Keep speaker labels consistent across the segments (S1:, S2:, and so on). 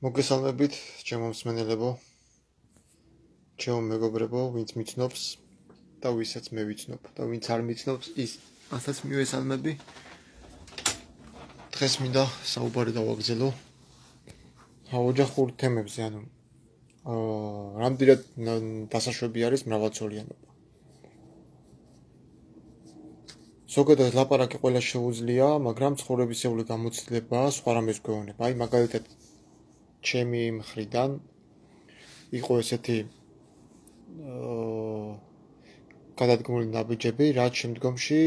S1: მოგესალმებით, ჩემო მსმენელებო, ჩემო მეგობრებო, ვინც მიცნობს და ვისაც მე ვიცნობ და ვინც არ მიცნობს, ის ასაც მივესალმები. დღეს მინდა საუბარი დავაგრძელო ოჯახურ თემებზე, რამდენად დასაშვები არის მრავალწოლიანობა. ზოგადად ლაპარაკი ყველა შეუძლია, მაგრამ ცხოვრებისეული გამოცდილება სხვა რამეს გვეუბნება. აი, მაგალითად, ჩემი მხრიდან იყო ესეთი გადადგმული ნაბიჯები, რაც შემდგომში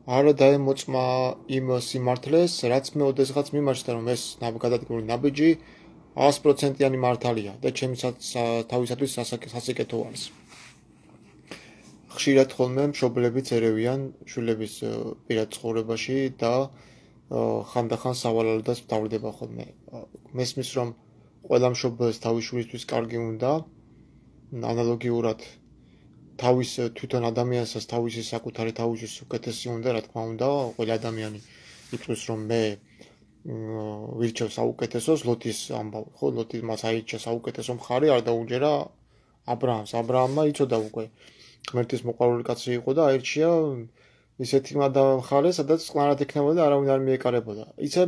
S1: არ დაემოწმა იმ სიმართლეს, რაც მე ოდესღაც მიმაჩნდა, რომ ეს გადადგმული ნაბიჯი 100%-იანი მართალია და ჩემი თავისათვის სასიკეთო არის. ხშირად ხოლმე მშობლებიც ერევიან შვილების პირად ცხოვრებაში და ხანდახან სავალალოდაც მთავრდება ხოლმე. მესმის, რომ ყველა მშობელს თავის შვილისთვის კარგი უნდა, ანალოგიურად თავის თვითონ ადამიანსაც თავისი საკუთარი თავის უკეთესი უნდა, რა თქმა უნდა, ყველა ადამიანი იწვევს, რომ მე ვირჩევ საუკეთესოს, ლოთის ამბავი, ხო, ლოთი მას აირჩია საუკეთესო მხარე, არ დაუჯერა აბრაამმა იცოდა უკვე ღმერთის მოყვარული კაცი იყო და აირჩია ისეთი მხარე, სადაც წყნარად იქნებოდა და არავინ არ მიეკარებოდა. იცი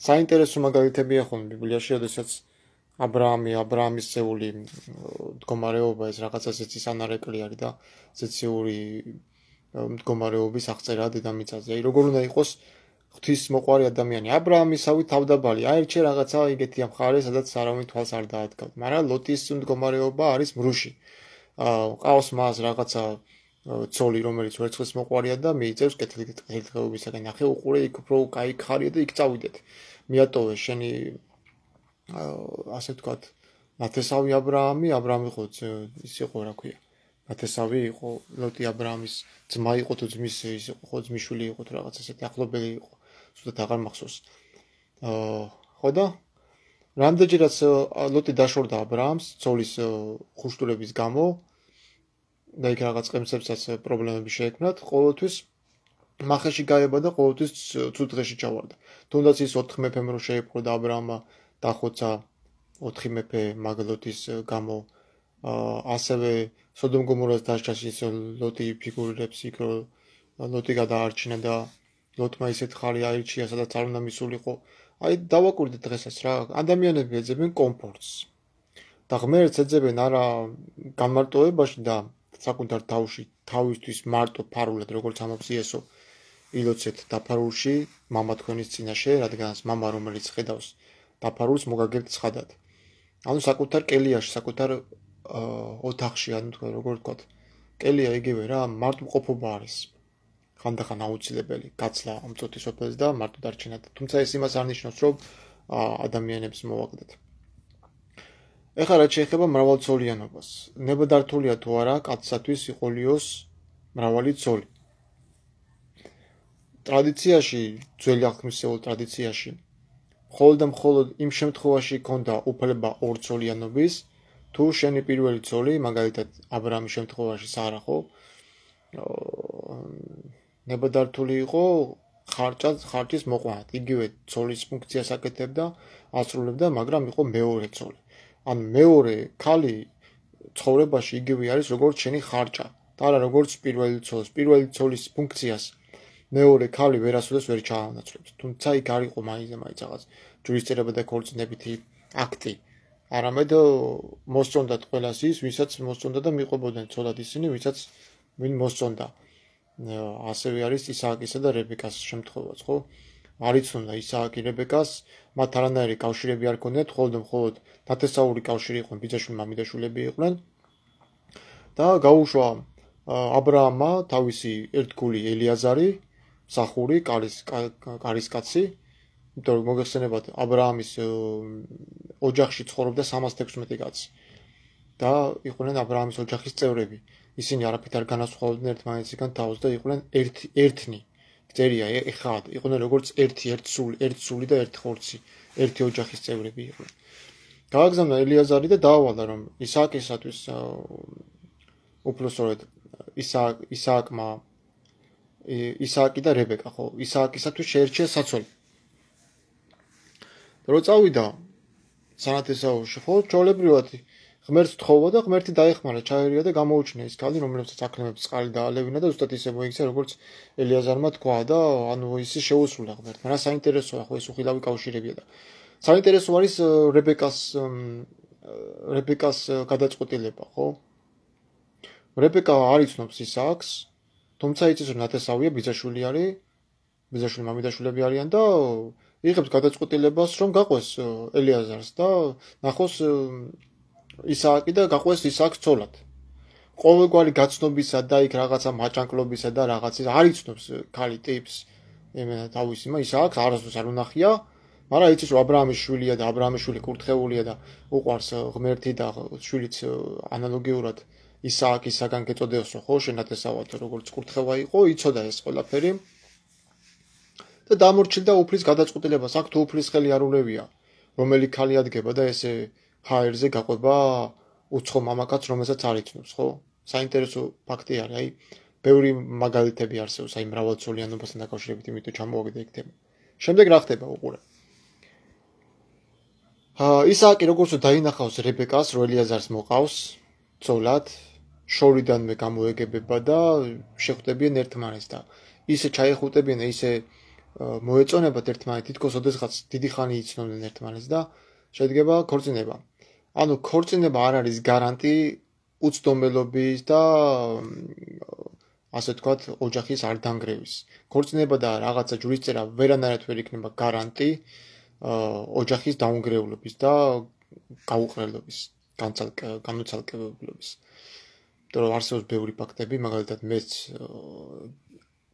S1: საინტერესო მაგალითებია ხოლმე ბიბლიაში, როდესაც აბრაამის წეული მდგომარეობა ეს რაღაცა ზეცის ანარეკლი არის და ზეციური მდგომარეობის აღწერა დედამიწაზე. აი, როგორ უნდა იყოს ღვთის მოყვარი ადამიანი. აბრაამისავით თავდაბალი აირჩია რაღაცა იგეთი მხარე, სადაც არავინ თვალს არ დაადგავ. მაგრამ ლოტის მდგომარეობა არის მრუში. ყავს მას რაღაცა ცოლი, რომელიც ვერცხლის მოყვარია და მიიწევს კეთილდღეობისაგან. ნახე, უყურე, იქ უფრო კაი ხარია და იქ წავიდეთ. მიატოვე შენი ასე ვთქვათ, ნათესავი აბრაამი იყო ის იყო, რა ქვია. ნათესავი იყო, ლოტი აბრაამის ძმა იყო თუ ძმის ის იყო, ხო, ძმისშვილი იყო თუ რაღაც ესეთი ახლობელი იყო. ზუსტად აღარ მახსოვს. ხო და რამდენჯერაც ლოტი დაშორდა აბრაამს ცოლის ხუშტურების გამო და იქ რაღაც ყემსებსაც პრობლემები შეექმნათ, ყოველთვის მახეში გაება და ყოველთვის ცუდ დღეში ჩავარდა. თუნდაც ის 4 მეფემ რო შეიპყრო და აბრაამმა დახოცა 4 მეფე მაგლოტის გამო, ასევე სოდომ გომორას დასჯას ის ლოტი ფიგურირებს იქ, ლოტი გადაარჩინა და ლოტმა ისეთ ხარი აირჩია, სადაც არ უნდა მისულიყო. აი, დავაკვირდით დღესაც რა, ადამიანები ეძებენ კომფორტს და ღმერთს ეძებენ არა განმარტოებაში და საკუთარ თავში თავისთვის მარტო ფარულად, როგორც ამბობს იესო, ილოცეთ დაფარულში მამა თქვენის წინაშე, რადგანაც მამა რომელიც ხედავს დაფარულს მოგაგებთ ცხადად. ანუ საკუთარ კელიაში, საკუთარ ოთახში, ანუ თქვენ როგორ ვთქვათ, კელია იგივე რა, მარტოყოფობა არის. ხანდახან აუცილებელი გაცლა ამწოთი სოფელს და მარტო დარჩენა. თუმცა ეს იმას არ ნიშნავს, რომ ადამიანებს მოვაკლდეთ. ეხლა რაც შეეხება მრავალწოლიანობას, ნებადართულია თუ არა კაცსათვის იყოლიოს მრავალი ცოლი. ტრადიციაში, ძველი აღთქმისეულ ტრადიციაში, მხოლოდ და მხოლოდ იმ შემთხვევაში ქონდა უფლება ორცოლიანობის, თუ შენი პირველი ცოლი, მაგალითად აბრაამის შემთხვევაში სარა ხო, ნებადართული იყო ხარჯის მოყვანად. იგივე ცოლის ფუნქციას აკეთებდა, ასრულებდა, მაგრამ იყო მეორე ცოლი. ან მეორე ქალი ცხოვრებაში იგივე არის, როგორც შენი ხარჯა და არა როგორც პირველი ცოლის. პირველი ცოლის ფუნქციას მეორე ქალი ვერასოდეს ვერ ჩაანაცვლებს. თუმცა იქ არ იყო მაინც რაღაც ჯურისწერება და ქორწინებითი აქტი. არამედ მოსწონდათ ყველას ის, ვისაც მოსწონდა და მიყვებოდნენ ცოლად ისინი, ვინ მოსწონდა. ასევე არის ისააკისა და რებეკას შემთხვევაც, ხო? არ იცნობდა ისააკი რებეკას, მათ არანაირი კავშირები არ ჰქონდათ, მხოლოდ ნათესაური კავშირი იყვნენ, ბიძაშვილი მამიდაშვილები იყვნენ. და გაუშვა აბრაამმა თავისი ერთგული ელიაზარი, მსახური, კარისკაცი, იმიტომ რომ მოგეხსენებათ, აბრაამის ოჯახში ცხოვრობდა 316 კაცი. და იყვნენ აბრაამის ოჯახის წევრები. ისინი არაფრით არ განასხვავებდნენ ერთმანეთისგან თავს და იყვნენ ერთნი. წერია ეხად, იყვნენ როგორც ერთსული და ერთხორცი, ერთი ოჯახის წევრები იყვნენ. გააგზავნა ელიაზარი და დაავალა, რომ ისააკისათვის უფრო სწორედ ისააკი და რებეკა, ხო, ისააკისათვის შეერჩია საცოლი. რო წავიდა სანათესაურში, ხო, ჩვეულებრივად ღმერთს თხოვა და ღმერთი დაეხმარა, ჩაერია და გამოუჩინა ის ქალი, რომელსაც აკლემებს წყალი დაალევინა და ზუსტად ისე მოიქცა, როგორც ელიაზარმა თქვა და ანუ ის შეუსრულა ღმერთმა. რა საინტერესოა, ხო, ეს უხილავი კავშირებია და საინტერესო არის რებეკას გადაწყვეტილება, ხო? რებეკა არ იცნობს ისააკს, თუმცა იცის, რომ ნათესავია, ბიძაშვილი არის, ბიძაშვილი მამიდაშვილები არიან და იღებს გადაწყვეტილებას, რომ გაყვეს ელიაზარს და ნახოს ისააკი და გაყვეს ისააკს ცოლად. ყოველგვარი გაცნობისა და იქ რაღაცა მაჭანკლობისა და რაღაცის არ იცნობს ქალი ტიპს, იმენა თავის იმა ისააკს არასდროს არ უნახია, მაგრამ იცის, რომ აბრაამის შვილია და აბრაამის შვილი კურთხეულია და უყვარს ღმერთი და შვილიც ანალოგიურად ისააკისაგან გეწოდეოსო, ხო, შენათესავად როგორც კურთხევა იყო, იცოდა ეს ყველაფერი. და დამორჩილდა უფლის გადაწყვეტილებას, აქ თუ უფლის ხელი არ ულევია, რომელი ქალი ადგება და ესე ჰაერზე გაყვება უცხო მამაკაც, რომელსაც არ იცნობს, ხო? საინტერესო ფაქტი არის, აი, ბევრი მაგალითები არსებობს, აი, მრავალწოლიანობასთან დაკავშირებით, იმიტომ ჩამოვაგდე ეგ თემა. შემდეგ რა ხდება უყურე? ისააკი როგორც დაინახავს რებეკას, რომ ელიაზარს მოყავს ცოლად, შორიდანვე გამოეგებება და შეხვდებიან ერთმანეთს და ისე ჩაიხუტებიან, ისე მოეწონებათ ერთმანეთს, თითქოს ოდესღაც დიდი ხანი იცნობდნენ ერთმანეთს და შედგება ქორწინება. ანუ ქორწინება არ არის გარანტი უცდომელობის და ასე თქვათ, ოჯახის არ დანგრევის. ქორწინება და რაღაცა ჯვრისწერა ვერანაირად ვერ იქნება გარანტი ოჯახის დაუნგრევლობის და გაუყრელობის, განუცალკევებლობის. იმიტომ რომ არსებობს ბევრი ფაქტები, მაგალითად მეც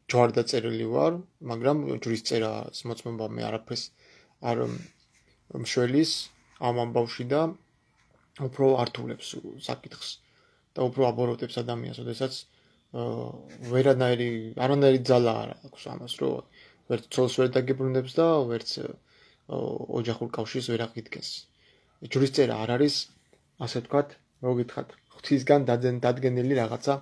S1: ჯვარდაწერილი ვარ, მაგრამ ჯვრისწერას მოწმობა მე არაფერს არ მშველის ამ ამბავში და უფრო ართულებს საკითხს და უფრო აბოროტებს ადამიანს, ოდესაც არანაირი ძალა არ აქვს ამას, რომ ვერც ცოლს ვერ დაგებრუნებს და ვერც ოჯახურ კავშირს ვერ აღიდგენს. ჯვრისწერა არ არის, ასე ვთქვათ, მოგითხათ, ღვთისგან დადგენილი რაღაცა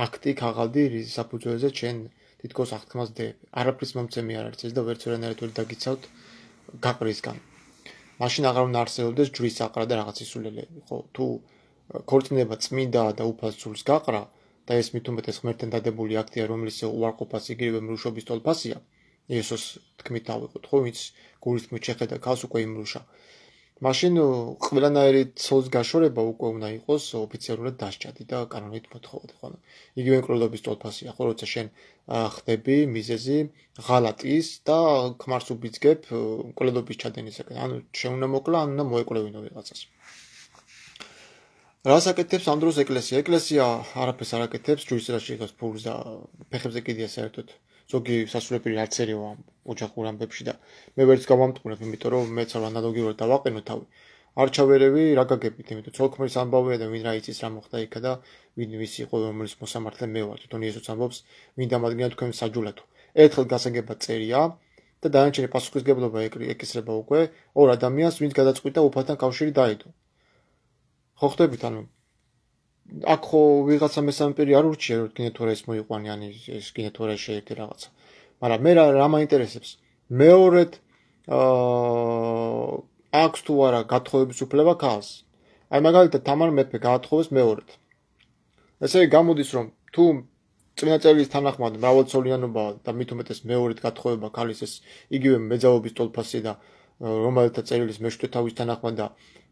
S1: აქტი, ქაღალდი, რის საფუძველზე ჩვენ თითქოს აღთქმას დებ. არაფრის მომცემი არ არის ეს და ვერც ვერანაირად ვერ დაგიცავთ გაყრისგან. მაშინ აღარ უნდა არსებობდეს ჯვრის აყრა და რაღაც ისულელეები, ხო? თუ ქორწინება წმინდა და უფალ სულს გაყრა და ეს მით უმეტეს ღმერთთან დადებული აქტია, რომელიც უარყოფას იგივე მრუშობის თვალფასია, იესოს თქმით ავიღოთ, ხო, ვინც გულის თქმით შეხედა ქალს უკვე იმრუშა. მაშინ ყველანაირი ცოლს გაშორება უკვე უნდა იყოს ოფიციალურად დასჯადი და კანონით მოთხოვდი, ხო? იგივე მკვლელობის თვალფასია, ხო, როცა შენ ხდები მიზეზი ღალატის და ქმარს უბიძგებ მკვლელობის ჩადენისაკენ. ანუ შენ უნდა მოკლა, ან უნდა მოეკლევინო ვიღაცას. რას აკეთებს ამ დროს ეკლესია? ეკლესია არაფერს არ აკეთებს, ჯვრისწერაში იღებს ფულს და ფეხებზე კიდია საერთოდ ზოგი სასულიერო არც ერიო ამ ოჯახურ ამბებში და მე ვერც გავამტყურებ, იმიტომ რომ მეც არ ანალოგიურად დავაყენო თავი. არ ჩავერევი რა გაგებით, იმიტომ ცოლქმრის ამბავია და ვინ რა იცის რა მოხდა იქა და ვინ ვის იყო რომელიც მოსამართლე მე ვარ, თვითონ იესოც ამბობს, ვინ დამადგინა თქვენ საჯულათო. ერთხელ გასაგებად წერია და დანარჩენი პასუხისგებლობა ეკისრება უკვე ორ ადამიანს, ვინც გადაწყვიტა უფალთან კავშირი დაიდო. ხო ხდებით, ანუ აქ ხო ვიღაცა მესამე პირი არ ურჩია, რომ გინდა თუ რა ის მოიყვანი, ან ეს გინდა თუ რა შეერთე რაღაცა. მაგრამ მე რა მაინტერესებს? მეორედ აქვს თუ არა გათხოვების უფლება ქალს. აი მაგალითად თამარ მეფე გაათხოვეს მეორედ. ესე გამოდის, რომ თუ წმინდა წერილის თანახმად მრავალწოლიანობა და მით უმეტეს მეორედ გათხოვება ქალის ეს იგივე მეძაობის თვალფასი და რომელთა წერილის მეშვიდე თავის თანახმად და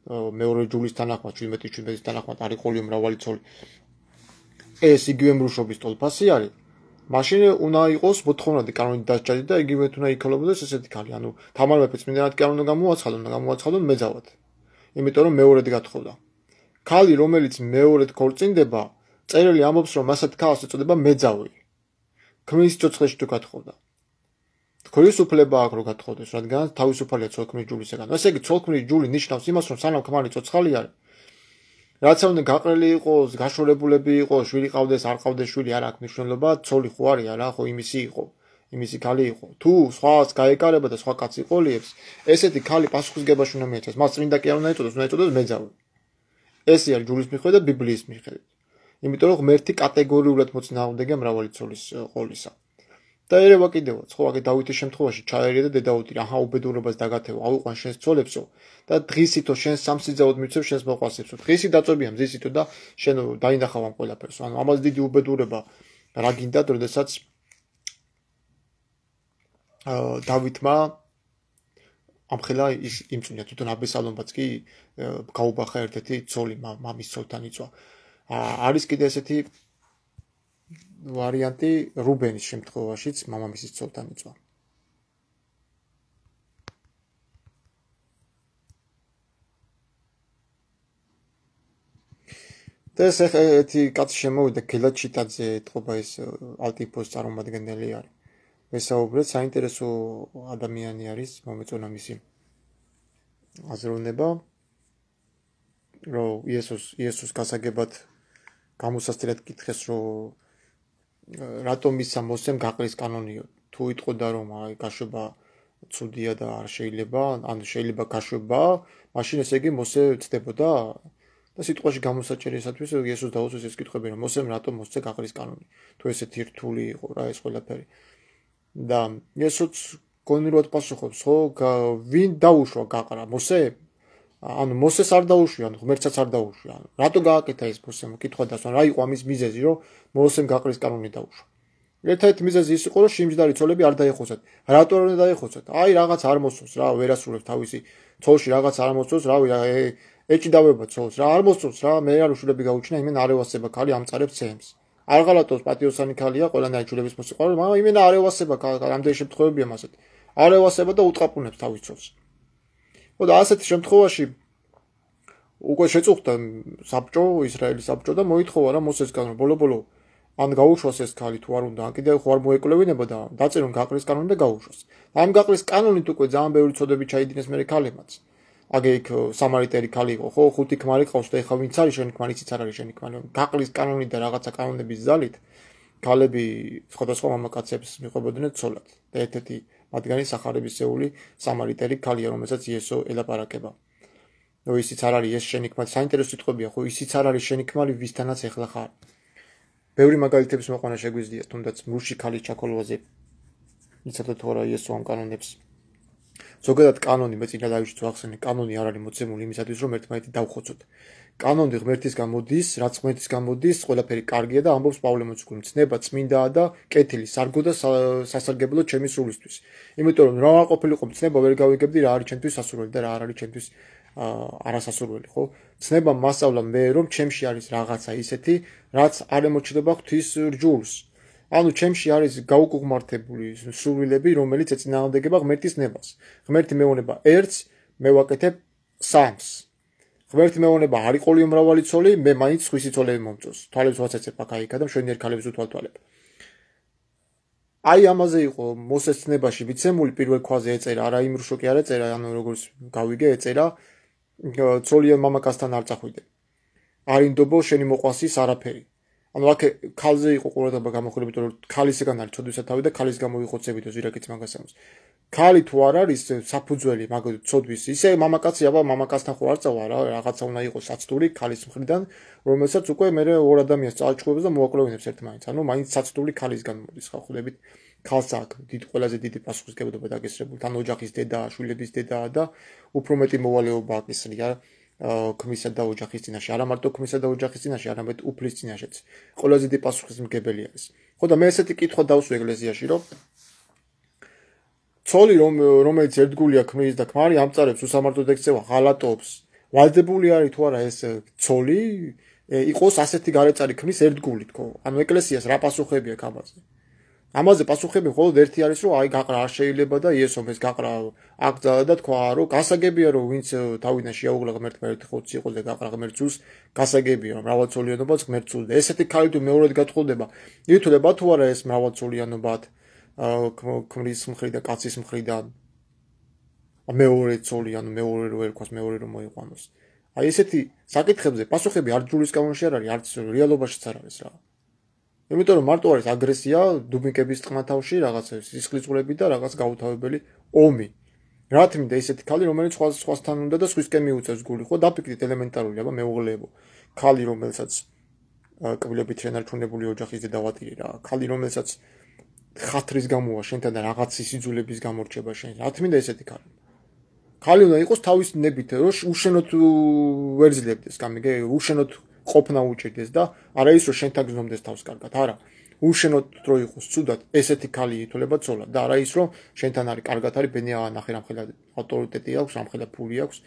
S1: მეორე ჯულის თანახმად 17-17-ის თანახმად არის ყოლიო მრავალი ცოლი. ეს იგივე მრუშობის თვალფასი არის. მაშინ უნდა იყოს მოთხოვნადი კანონით დასჯადი და იგივე უნდა იქალებოდეს ესეთი ქალი. ანუ თამარ მეფე წმინდანად კი არ უნდა გამოაცხადონ მეძავად. იმიტომ რომ მეორედ გათხოვდა. ქალი რომელიც მეორედ ქორწინდება, წერილი ამბობს რომ მასად ქალს ეწოდება მეძავი. ქმრის სიცოცხლეში თუ გათხოვდა. ქრის უფლება აქვს რომ გათხოვდეს, რადგან თავისუფალია ცოლქმრის ჯულისაგან. ესე იგი ცოლქმრის ჯული ნიშნავს იმას რომ სანამ ქმარი ცოცხალი არის, რაც უნდა გაყრელი იყოს, გაშორებულები იყოს, შვილი ყავდეს, არ ყავდეს შვილი, არ აქვს მნიშვნელობა, ცოლი ხო არის არა, ხო იმისი იყო, იმისი ქალი იყო. თუ სხვას გაეკარება და სხვა კაცი ყოლიებს, ესეთი ქალი პასუხისგებაში უნდა მიეცეს. მას წმინდა კი არ უნდა ეწოდოს, უნდა ეწოდოს მეძავი. ესე არის ჯულის მიხედვით და ბიბლიის მიხედვით. იმიტომ რომ ღმერთი კატეგორიულად მოწინააღმდეგეა მრავალი ცოლის ყოლისა. და ერევა კიდევაც, ხო, აგე დავითის შემთხვევაში ჩაერია და დედაუთი აჰა უბედურებას დაგათევა, ავიყვან შენს ცოლებსო და დღისითო შენს სამსიძაოდ მიცევ შენს მოყვასებსო. დღისი დაწვებია მზისითო და შენ დაინახავ ამ ყველაფერს. ანუ ამას დიდი უბედურება რა გინდათ, როდესაც დავითმა ამხელა ის იმწუნია თვითონ აბესალომბაც კი გაუბახა ერთ-ერთი ცოლი მამის ცოლთან იწვა. არის კიდე ესეთი ვარიანტი რუბენის შემთხვევაშიც მამამისის ცოლთან იწვა. და ეს ერთი კაცი შემოვიდა გელად ჩიტაძე ეთყობა ეს ალტიფოს წარმომადგენელი არის. ვესაუბრეთ, საინტერესო ადამიანი არის, მომეწონა მისი აზროვნება, რომ იესოს გასაგებად გამოსასწრად კითხეს, რომ რატომ ისა მოსემ გაყრის კანონიო. თუ იტყოდა რომ აი გაშვება ცუდია და არ შეიძლება, ან შეიძლება გაშვება, მაშინ ესე იგი მოსე ცდებოდა და სიტყვაში გამოსაჭრელისათვის იესოს დაუწეს ეს კითხვები, რომ მოსემ რატომ მოსცე გაყრის კანონი. თუ ესეთი რთული იყო რა ეს ყველაფერი. და იესოც გონილად პასუხობს, ხო, ვინ დაუშვა გაყრა, მოსე? ანუ მოსეს არ დაუშვია, ანუ ღმერთსაც არ დაუშვია. რატო გააკეთა ეს მოსემ? კითხვა დასვან, რა იყო ამის მიზეზი, რომ მოსემ გაყრის კანონი დაუშვა. ერთ-ერთი მიზეზი ის იყო, რომ შიმჯდარი ცოლები არ დაეხოცათ. რატო არ დაეხოცათ? აი რაღაც არ მოსწონს რა, ვერ ასრულებს თავისი ცოლში რაღაც არ მოსწონს, რავი, ეჭიდავება ცოლს რა, არ მოსწონს რა, მე არ უშვილები გაუჩინა, იმენ არ ევასება ქალი ამწარებს ცემს. არ ღალატობს პატიოსანი ქალია, ყველანაირ შვილების მოსიყვარული, მაგრამ იმენ არ ევასება, რამდენი შემთხვევებია მასეთ. არ ევასება და უტყაპუნებს თავის ცოლს. ხო და ასეთ შემთხვევაში უკვე შეწუხდა საბჭო, ისრაელის საბჭო და მოითხოვა რა მოსესგან, რომ ბოლო-ბოლო ან გაუშვას ეს ქალი თუ არ უნდა, ან კიდევ ხო არ მოეკვლევინება და დაწერონ გაყრის კანონი და გაუშვას. ამ გაყრის კანონით უკვე ძალიან ბევრი ცოდები ჩაიდინეს მერე ქალებმაც. აგე იქ სამარიტელი ქალი იყო, ხო, 5 ქმარი ყავს და ეხლა ვინც არის შენი ქმარი, იცით არ არის შენი ქმარი. გაყრის კანონი და რაღაცა კანონების ძალით ქალები სხვადასხვა მამაკაცებს მიყვებოდნენ ცოლად. და ერთ-ერთი მათგანი სახარებისეული სამარიტელი ქალია, რომელსაც იესო ელაპარაკება. ნუ ისიც არ არის ეს შენი ქმარი, საინტერესო სიტყვებია, ხო, ისიც არ არის შენი ქმარი, ვისთანაც ეხლა ხარ. ბევრი მაგალითების მოყვანა შეგვიძლია, თუნდაც მურში ქალის ჩაქოლვაზე. იცოდეთ თუ არა იესო ამ კანონებს. ზოგადად კანონი მე წინა ლაივში ვახსენე, კანონი არ არის მოცემული იმისათვის, რომ ერთმანეთი დავხოცოთ. კანონი ღმერთისგან მოდის, რაც ღმერთისგან მოდის, ყველაფერი კარგია და ამბობს პავლე მოციქული, ცნება წმინდაა და კეთილი, სარგო და სასარგებლო ჩემი სულისთვის. იმიტომ რომ რა ყოფილიყო ცნება ვერ გავიგებდი რა არის ჩემთვის სასურველი და რა არ არის ჩემთვის არასასურველი, ხო? ცნება მასწავლა მე რომ ჩემში არის რაღაცა ისეთი, რაც არ ემოჩნდება ღვთის რჯულს. ანუ ჩემში არის გაუკუღმართებული სურვილები, რომელიც ეწინააღმდეგება ღმერთის ნებას. ღმერთი მეუბნება ერთს, მე ვაკეთებ სამს. ღმერთი მეუბნება არ იყოლიო მრავალი ცოლი, მე მაინც სხვისი ცოლები მომწონს. თვალებს ვაცეცებ აქა-იქა და მშვენიერ ქალებს უთვალთვალებ. აი ამაზე იყო მოსეს ცნებაში ვიცემული პირველ ქვაზე ეწერა, არა იმ რუშოკი არ ეწერა, ანუ როგორც გავიგე ეწერა, ცოლია მამაკაცთან არ წახვიდე. არ ინდობო შენი მოყვასის არაფერი. ანუ აქ ქალზე იყო ყურადღება გამოხმარებით, რომ ქალისგან არის ცოდვისათავი და ქალის გამოიხოცებითო ზირაკიც მაგას ამბობს. ქალი თუ არ არის საფუძველი მაგალითად ცოდვის, ისე მამაკაცი აბა მამაკაცთან ხო არ წავა რა, რაღაცა უნდა იყოს საცდური ქალის მხრიდან, რომელსაც უკვე მე ორ ადამიანს წააჩხუბებს და მოაკვლევინებს ერთმანეთს. ანუ მაინც საცდური ქალისგან მოდის ხო ხვდებით. ქალს აქვს ყველაზე დიდი პასუხისმგებლობა დაგესრებული, თან ოჯახის დედაა, შვილების დედაა და უფრო მეტი მოვალეობა აკისრია ქმისა და ოჯახის წინაშე, არა მარტო ქმისა და ოჯახის წინაშე, არამედ უფლის წინაშეც. ყველაზე დიდი პასუხისმგებელი არის. ხო და მე ესეთი კითხვა დავსვი ეკლესიაში, რომ ცოლი რომელიც ერთგულია ქმრის და ქმარი ამწარებს უსამართლოდ ექცევა, ღალატობს, ვალდებული არის თუ არა ეს ცოლი იყოს ასეთი გარეწარი ქმრის ერთგულით, ხო? ანუ ეკლესიას რა პასუხები აქვს ამაზე? ამაზე პასუხები მხოლოდ ერთი არის, რომ აი გაყრა არ შეიძლება და იესომ ეს გაყრა აკრძალა და თქვა, რომ გასაგებია, რომ ვინც თავიდან შეაუღლა ღმერთმა ერთი ხოცი იყოს და გაყრა ღმერთს, გასაგებია, რომ მრავალცოლიანობაც ღმერთს. ესეთი ქალი თუ მეორედ გათხოვდება, ითვლება თუ არა ეს მრავალცოლიანობა ქმრის მხრიდან, კაცის მხრიდან. მეორე ცოლი, ანუ მეორე რო ერქვას, მეორე რომ მოიყვანოს. აი ესეთი საკითხებზე პასუხები არ ჯულის კანონში არ არის, არც რეალობაშიც არ არის რა. იმიტომ რომ მარტო არის აგრესია, დუბინკების წყმათავში, რაღაცა სისხლისღვრები და რაღაც გაუთავებელი ომი. რა თქმა უნდა, ესეთი ქალი, რომელიც სხვასთან უნდა და სხვისკენ მიუწევს გული, ხო, დაფიქრდით ელემენტარული, აბა მეუღლეებო. ქალი, რომელსაც კბილებით შენარჩუნებული ოჯახის დედავატირი რა, ქალი, რომელსაც ხათრის გამოვა შენთან და რაღაც სიძულების გამორჩება შენ. რა თქმა უნდა ესეთი ქალი. ქალი უნდა იყოს თავის ნებით, რომ უშენოდ ვერ ძლევდეს, გამიგე, უშენოდ ყოფნა უჭირდეს და არა ის რომ შენთან გზნობდეს თავს კარგად, არა. უშენოდ რო იყოს ცუდად, ესეთი ქალი ითვლება ცოლად და არა ის რომ შენთან არის კარგად არის, ბენია ნახე რამხელა ავტორიტეტი აქვს, რამხელა ფული აქვს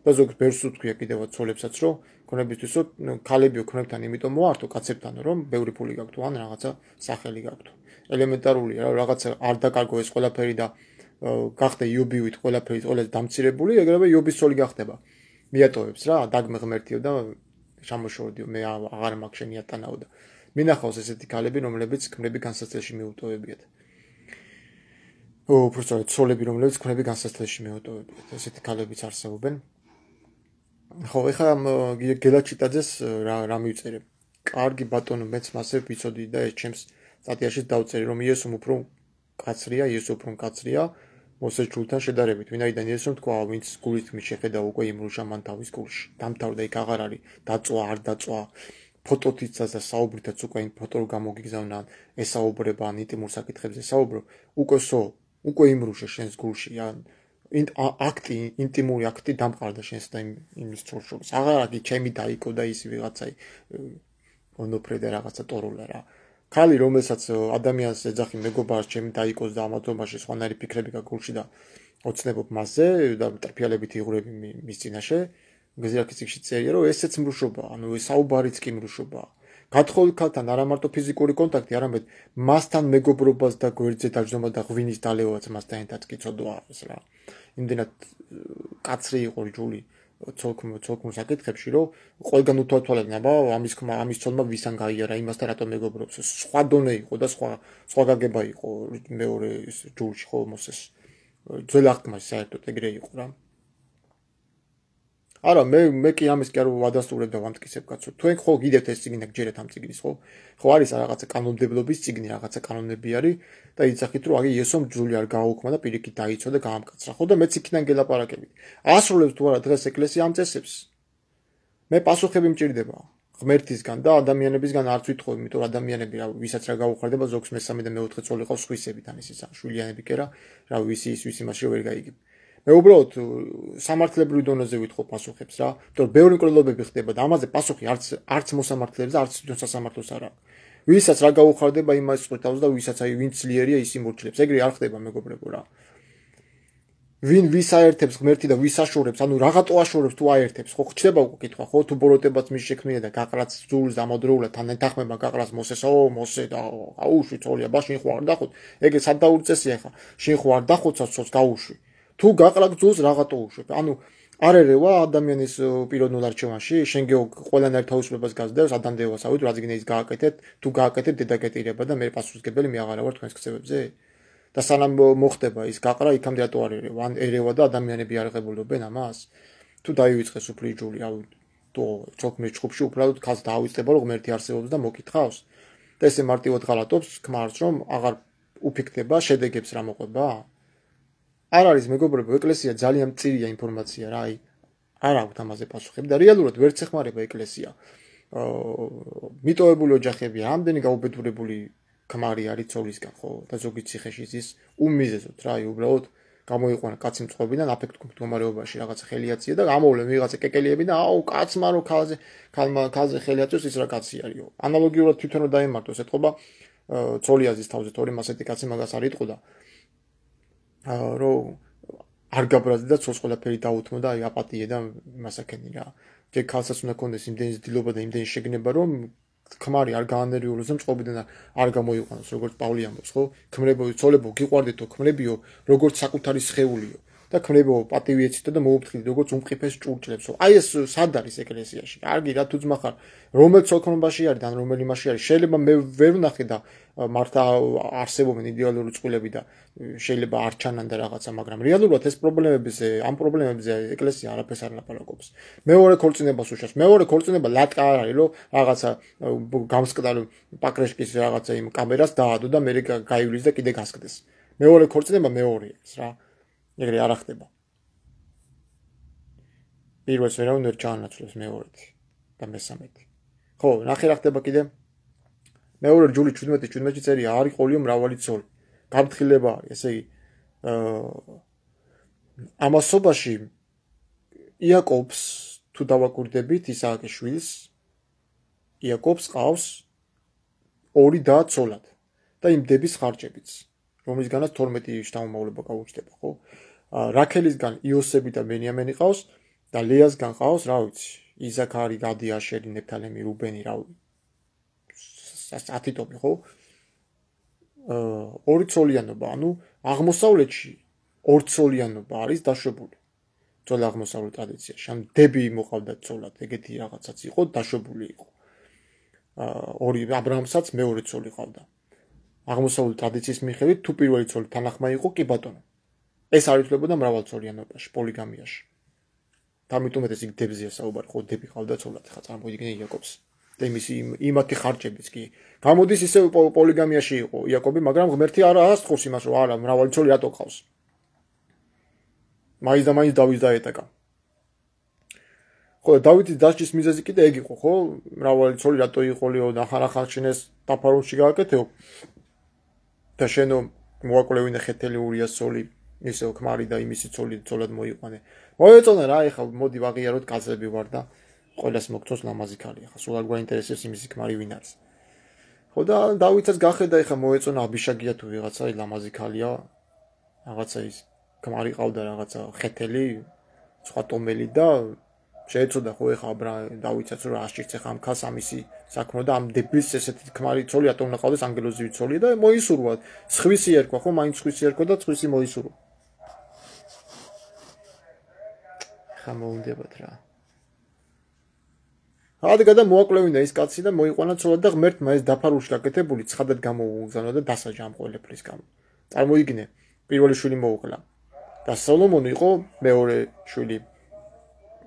S1: და ზოგს ბერს უთხია კიდევაც ცოლებსაც რომ ქონებისთვის რომ ქალებიო ქონებთან იმიტომ მოართო კაცებთან რომ ბევრი ფული გაქვთ ან რაღაცა სახელი გაქვთ. ელემენტარულია რა რაღაცა არ დაკარგო ეს ყველაფერი და გახდა იობივით ყველაფერი ყველას დამცირებული, ეგრევე იობის ცოლი გახდება. მიატოვებს რა, დაგმე ღმერთიო და შემოშორდიო, მე აღარ მაქვს შენი ატანაო და მინახავს ესეთი ქალები, რომლებიც ქმრები განსაცდელში მიუტოვებიათ. უბრალოდ ცოლები, რომლებიც ქმრები განსაცდელში მიუტოვებიათ. ესეთი ქალებიც არსებობენ. ხო, ეხლა გელა ჩიტაძეს რა მივწერე. კარგი ბატონო, მეც მასე ვიცოდი და ეს ჩემს სტატიაში დავწერე, რომ იესომ უფრო კაცრია, იესო უფრო კაცრია მოსეს ჯულთან შედარებით. ვინაიდან იესომ თქვა, ვინც გულით მის შეხედა უკვე იმრუშა მან თავის გულში. დამთავრდა იქ აღარ არის დაწვა, არ დაწვა. ფოტოთიცაც და საუბრითაც უკვე იმ ფოტო გამოგიგზავნა, ესაუბრება ან ინტიმურ საკითხებზე საუბრო, უკვე იმრუშა შენს გულში, ან აქტი, ინტიმური აქტი დამყარდა შენს და იმის შორს. აღარ არის ჩემი დაიკო და ის ვიღაცაი ონოფრე და რაღაცა ტორულა რა. ქალი რომელსაც ადამიანს ეძახი მეგობარს ჩემი დაიკოს და ამათობაში სხვანაირი ფიქრები გაგულში და ოცნებობ მასზე და ტრფიალებით იღურები მის წინაშე გზირაკიციკში წერია რომ ესეც მრუშობაა, ანუ საუბარიც კი მრუშობაა. გათხოვილ ქალთან არა მარტო ფიზიკური კონტაქტი, არამედ მასთან მეგობრობას და გვერდზე დაჯდომა და ღვინის დალევაც მასთან ერთად კი ცოდვა არის რა. იმდენად კაცრი იყო ჯული ცოლქმურ საკითხებში, რომ ყველგან უთვალთვალებდნენ, აბა ამის ცოლმა ვისთან გაიარა, იმასთან რატომ მეგობრობს. სხვა დონე იყო და სხვა გაგება იყო მეორე ჯულში ხო მოსეს. ძველ აღთქმაში საერთოდ ეგრე იყო რა. არა, მე კი ამის კი არ ვადასტურებ და ვამტკიცებ კაცო. თქვენ ხო გიდევთ ეს წიგნი და გჯერეთ ამ წიგნის, ხო? ხო არის რაღაცა კანონმდებლობის წიგნი, რაღაცა კანონები არის და იცახით რომ აი ესომ ჯული არ გააუქმა და პირიქით დაიცვა და გაამკაცრა. ხო და მეც იქიდან გელაპარაკებით. ასრულებს თუ არა დღეს ეკლესია ამ წესებს? მე პასუხები მჭირდება ღმერთისგან და ადამიანებისგან არც ვითხოვ, იმიტომ რომ ადამიანები რა ვისაც რა გაუხარდება, ზოგს მესამე და მეოთხე წოლი ყავს სხვისებით, ან ისიც შვილიანები კი რა ვისი იმაში ვერ გაიგებ. მე უბრალოდ სამართლებრივი დონეზე ვითხოვ პასუხებს რა, იმიტომ რომ ბევრი მკვლელობები ხდება და ამაზე პასუხი არც მოსამართლეებს და არც თვითონ სასამართლოს არ აქვს. ვისაც რა გაუხარდება იმას წყვეტავს და ვისაც აი ვინც ძლიერია ის იმორჩილებს. ეგრე არ ხდება მეგობრებო რა. ვინ ვის აერთებს ღმერთი და ვის აშორებს, ანუ რაღაცო აშორებს თუ აერთებს, ხო ხდება უკვე კითხვა, ხო თუ ბოროტებაც მის შექმნია და გაყრაც ძულს ამოდროულად თან ეთახმება გაყრაც მოსესო, მოსე და აუშვი წოლია, ბაშინ ხო არ დახოთ. ეგ სად დაურწესია ხა? შენ ხო არ დახოცავს ცოლს გაუშვი. თუ გაყრაკ ძულს რაღაცო უშვებ. ანუ არ ერევა ადამიანის პიროვნულ არჩევანში, შენ ყველანაირ თავისუფლებას გაზდევს ადამიანს, ავით რა ზიგნეის გააკეთეთ, თუ გააკეთებ დედაკეტირება და მე პასუხისგებელი მე აღარა ვარ თქვენს ქცევებზე. და სანამ მოხდება ის გაყრა, იქამდე რატო არ ერევა? ან ერევა და ადამიანები არ ღებულობენ ამას? თუ დაივიწყეს უფლი ჯული, ავით თუ ჩოქმის ჩხუბში უბრალოდ ქალს დაავიწყება რომ ღმერთი არსებობს და მოკითხავს. და ესე მარტივად ღალატობს, ქმარს რომ აღარ უფიქრდება, შედეგებს რა მოყვება? არ არის მეგობრებო, ეკლესია ძალიან მწირია ინფორმაცია რა, აი არ აქვს ამაზე პასუხები და რეალურად ვერც ეხმარება ეკლესია. მიტოვებული ოჯახები, ამდენი გაუბედურებული ქმარი არის ცოლისგან, ხო? და ზოგი ციხეში ის უმიზეზოდ რა, აი უბრალოდ გამოიყვანა კაცი მწყობიდან აფექტურ მდგომარეობაში რაღაცა ხელიაცია და გამოვლენ ვიღაცა კეკელიები და აუ კაცმა რო ქალზე ხელი აწვევს ის რა კაცი არისო. ანალოგიურად თვითონ დაემართოს ეთყობა ცოლიაზის თავზე თორემ ასეთი კაცი მაგას არ იტყოდა. რომ არ გაბრაზდა და ცოლს ყველაფერი დაუთმო და აი აპატიე და მასაკენი რა. ჯერ ქალსაც უნდა კონდეს იმდენი ზდილობა და იმდენი შეგნება რომ ქმარი არ გაანერვიულოს და მწყობიდან არ გამოიყვანოს როგორც პავლე ამბობს ხო? ქმრებო ცოლებო გიყვარდეთო ქმრებიო როგორც საკუთარი სხეულიო და ქმრებო პატივი ეცითო და მოუფრთხილდით როგორც უმყიფეს ჭურჭლებსო. აი ეს სად არის ეკლესიაში? კარგი რა თუ ძმა ხარ, რომელ ცოლქმრობაში არის და რომელ იმაში არის? შეიძლება მე ვერ ვნახე და მართა არსებობენ იდეალური წყვილები და შეიძლება არ ჩანან და რაღაცა, მაგრამ რეალურად ეს პრობლემებზე, ამ პრობლემებზე ეკლესია არაფერს არ ლაპარაკობს. მეორე ქორწინებას უშავს. მეორე ქორწინება ლატკა არ არის, რომ რაღაცა გამსკდარი პაკრეშკის რაღაცა იმ კამერას დაადო და მე გაივლის და კიდე გასკდეს. მეორე ქორწინება მეორეა ეს რა. ეგრე არ ხდება. პირველს ვერავინ ჩაანაცვლებს მეორეთი და მესამეთი. ხო, ნახე რა ხდება კიდე. მეორე ჯული 17-ში წერია არის ყოლიო მრავალი ცოლი. გაფრთხილება არის, ესე იგი ამასობაში იაკობს თუ დავაკვირდებით ისააკის შვილს იაკობს ყავს ორი და ცოლად და იმ დების ხარჯებიც, რომლისგანაც 12 შთამომავლობა გაუჩნდება, ხო? რაქელისგან იოსები და ბენიამენი ყავს და ლეასგან ყავს, რა ვიცი, იზაქარი, გადი, აშერი, ნეფთალემი, რუბენი, რა ვიცი. 10 ტომი, ხო? ორი ცოლიანობა, ანუ აღმოსავლეთში ორცოლიანობა არის დაშვებული. ძველ აღმოსავლეთ ტრადიციაში, ან დები მოყავდა ცოლად, ეგეთი რაღაცაც იყო, დაშვებული იყო. ორი აბრაამსაც მეორე ცოლი ყავდა. აღმოსავლეთ ტრადიციის მიხედვით, თუ პირველი ცოლი თანახმა იყო, კი ბატონო. ეს არ ითვლებოდა მრავალცოლიანობაში, პოლიგამიაში. ამიტომაც ის დებზეა საუბარი, ხო, დები ყავდა ცოლად, ხა წარმოიდგინე იაკობს. და იმათი ხარჯებიც კი. გამოდის ისე პოლიგამიაში იყო იაკობი, მაგრამ ღმერთი არ ასწორს იმას, რომ არა, მრავალი ცოლი რატო ყავს. მაინც და მაინც დავის დაეტაკა. ხო, დავითის დასჯის მიზეზი კიდე ეგ იყო, ხო? მრავალი ცოლი რატო იყოლიო და ახალ შენეს დაფარონში გააკეთეო. და შენო მოაკვლევინე ხეთელი ურიას ცოლი, ისე ქმარი და იმისი ცოლი ცოლად მოიყვანე. მოეწონა რა, ეხლა მოდი ვაღიაროთ კაცები ვარ და ყველას მოგწონს ლამაზი ქალი, ახლა სულ არ გვაინტერესებს იმისი ქმარი ვინ არის. ხო და დავითაც გახედა, ეხლა მოეწონა აბიშაგია თუ ვიღაცა ლამაზი ქალია, რაღაცა ის ქმარი ყავდა რაღაცა ხეთელი, სხვა ტომელი და შეეცოდა ხო ეხლა დავითაც რომ ასჭირც ეხლა ამ ქალს ამისი საქმრო და ამ დებილს ესეთი ქმარი ცოლი რატომ უნდა ყავდეს ანგელოზივი ცოლი და მოისურვა. სხვისი ერქვა ხო, მაინც სხვისი ერქვა და სხვისი მოისურვა. ხა მოუნდებათ რა. ადგადა მოაკვლევინა ის კაცი და მოიყვანა ცოლად და ღმერთმა ეს დაფარულში გაკეთებული ცხადად გამოუგზავნა და დასაჯა ამ ყველაფრის გამო. წარმოიდგინე, პირველი შვილი მოუკლა და სოლომონი იყო მეორე შვილი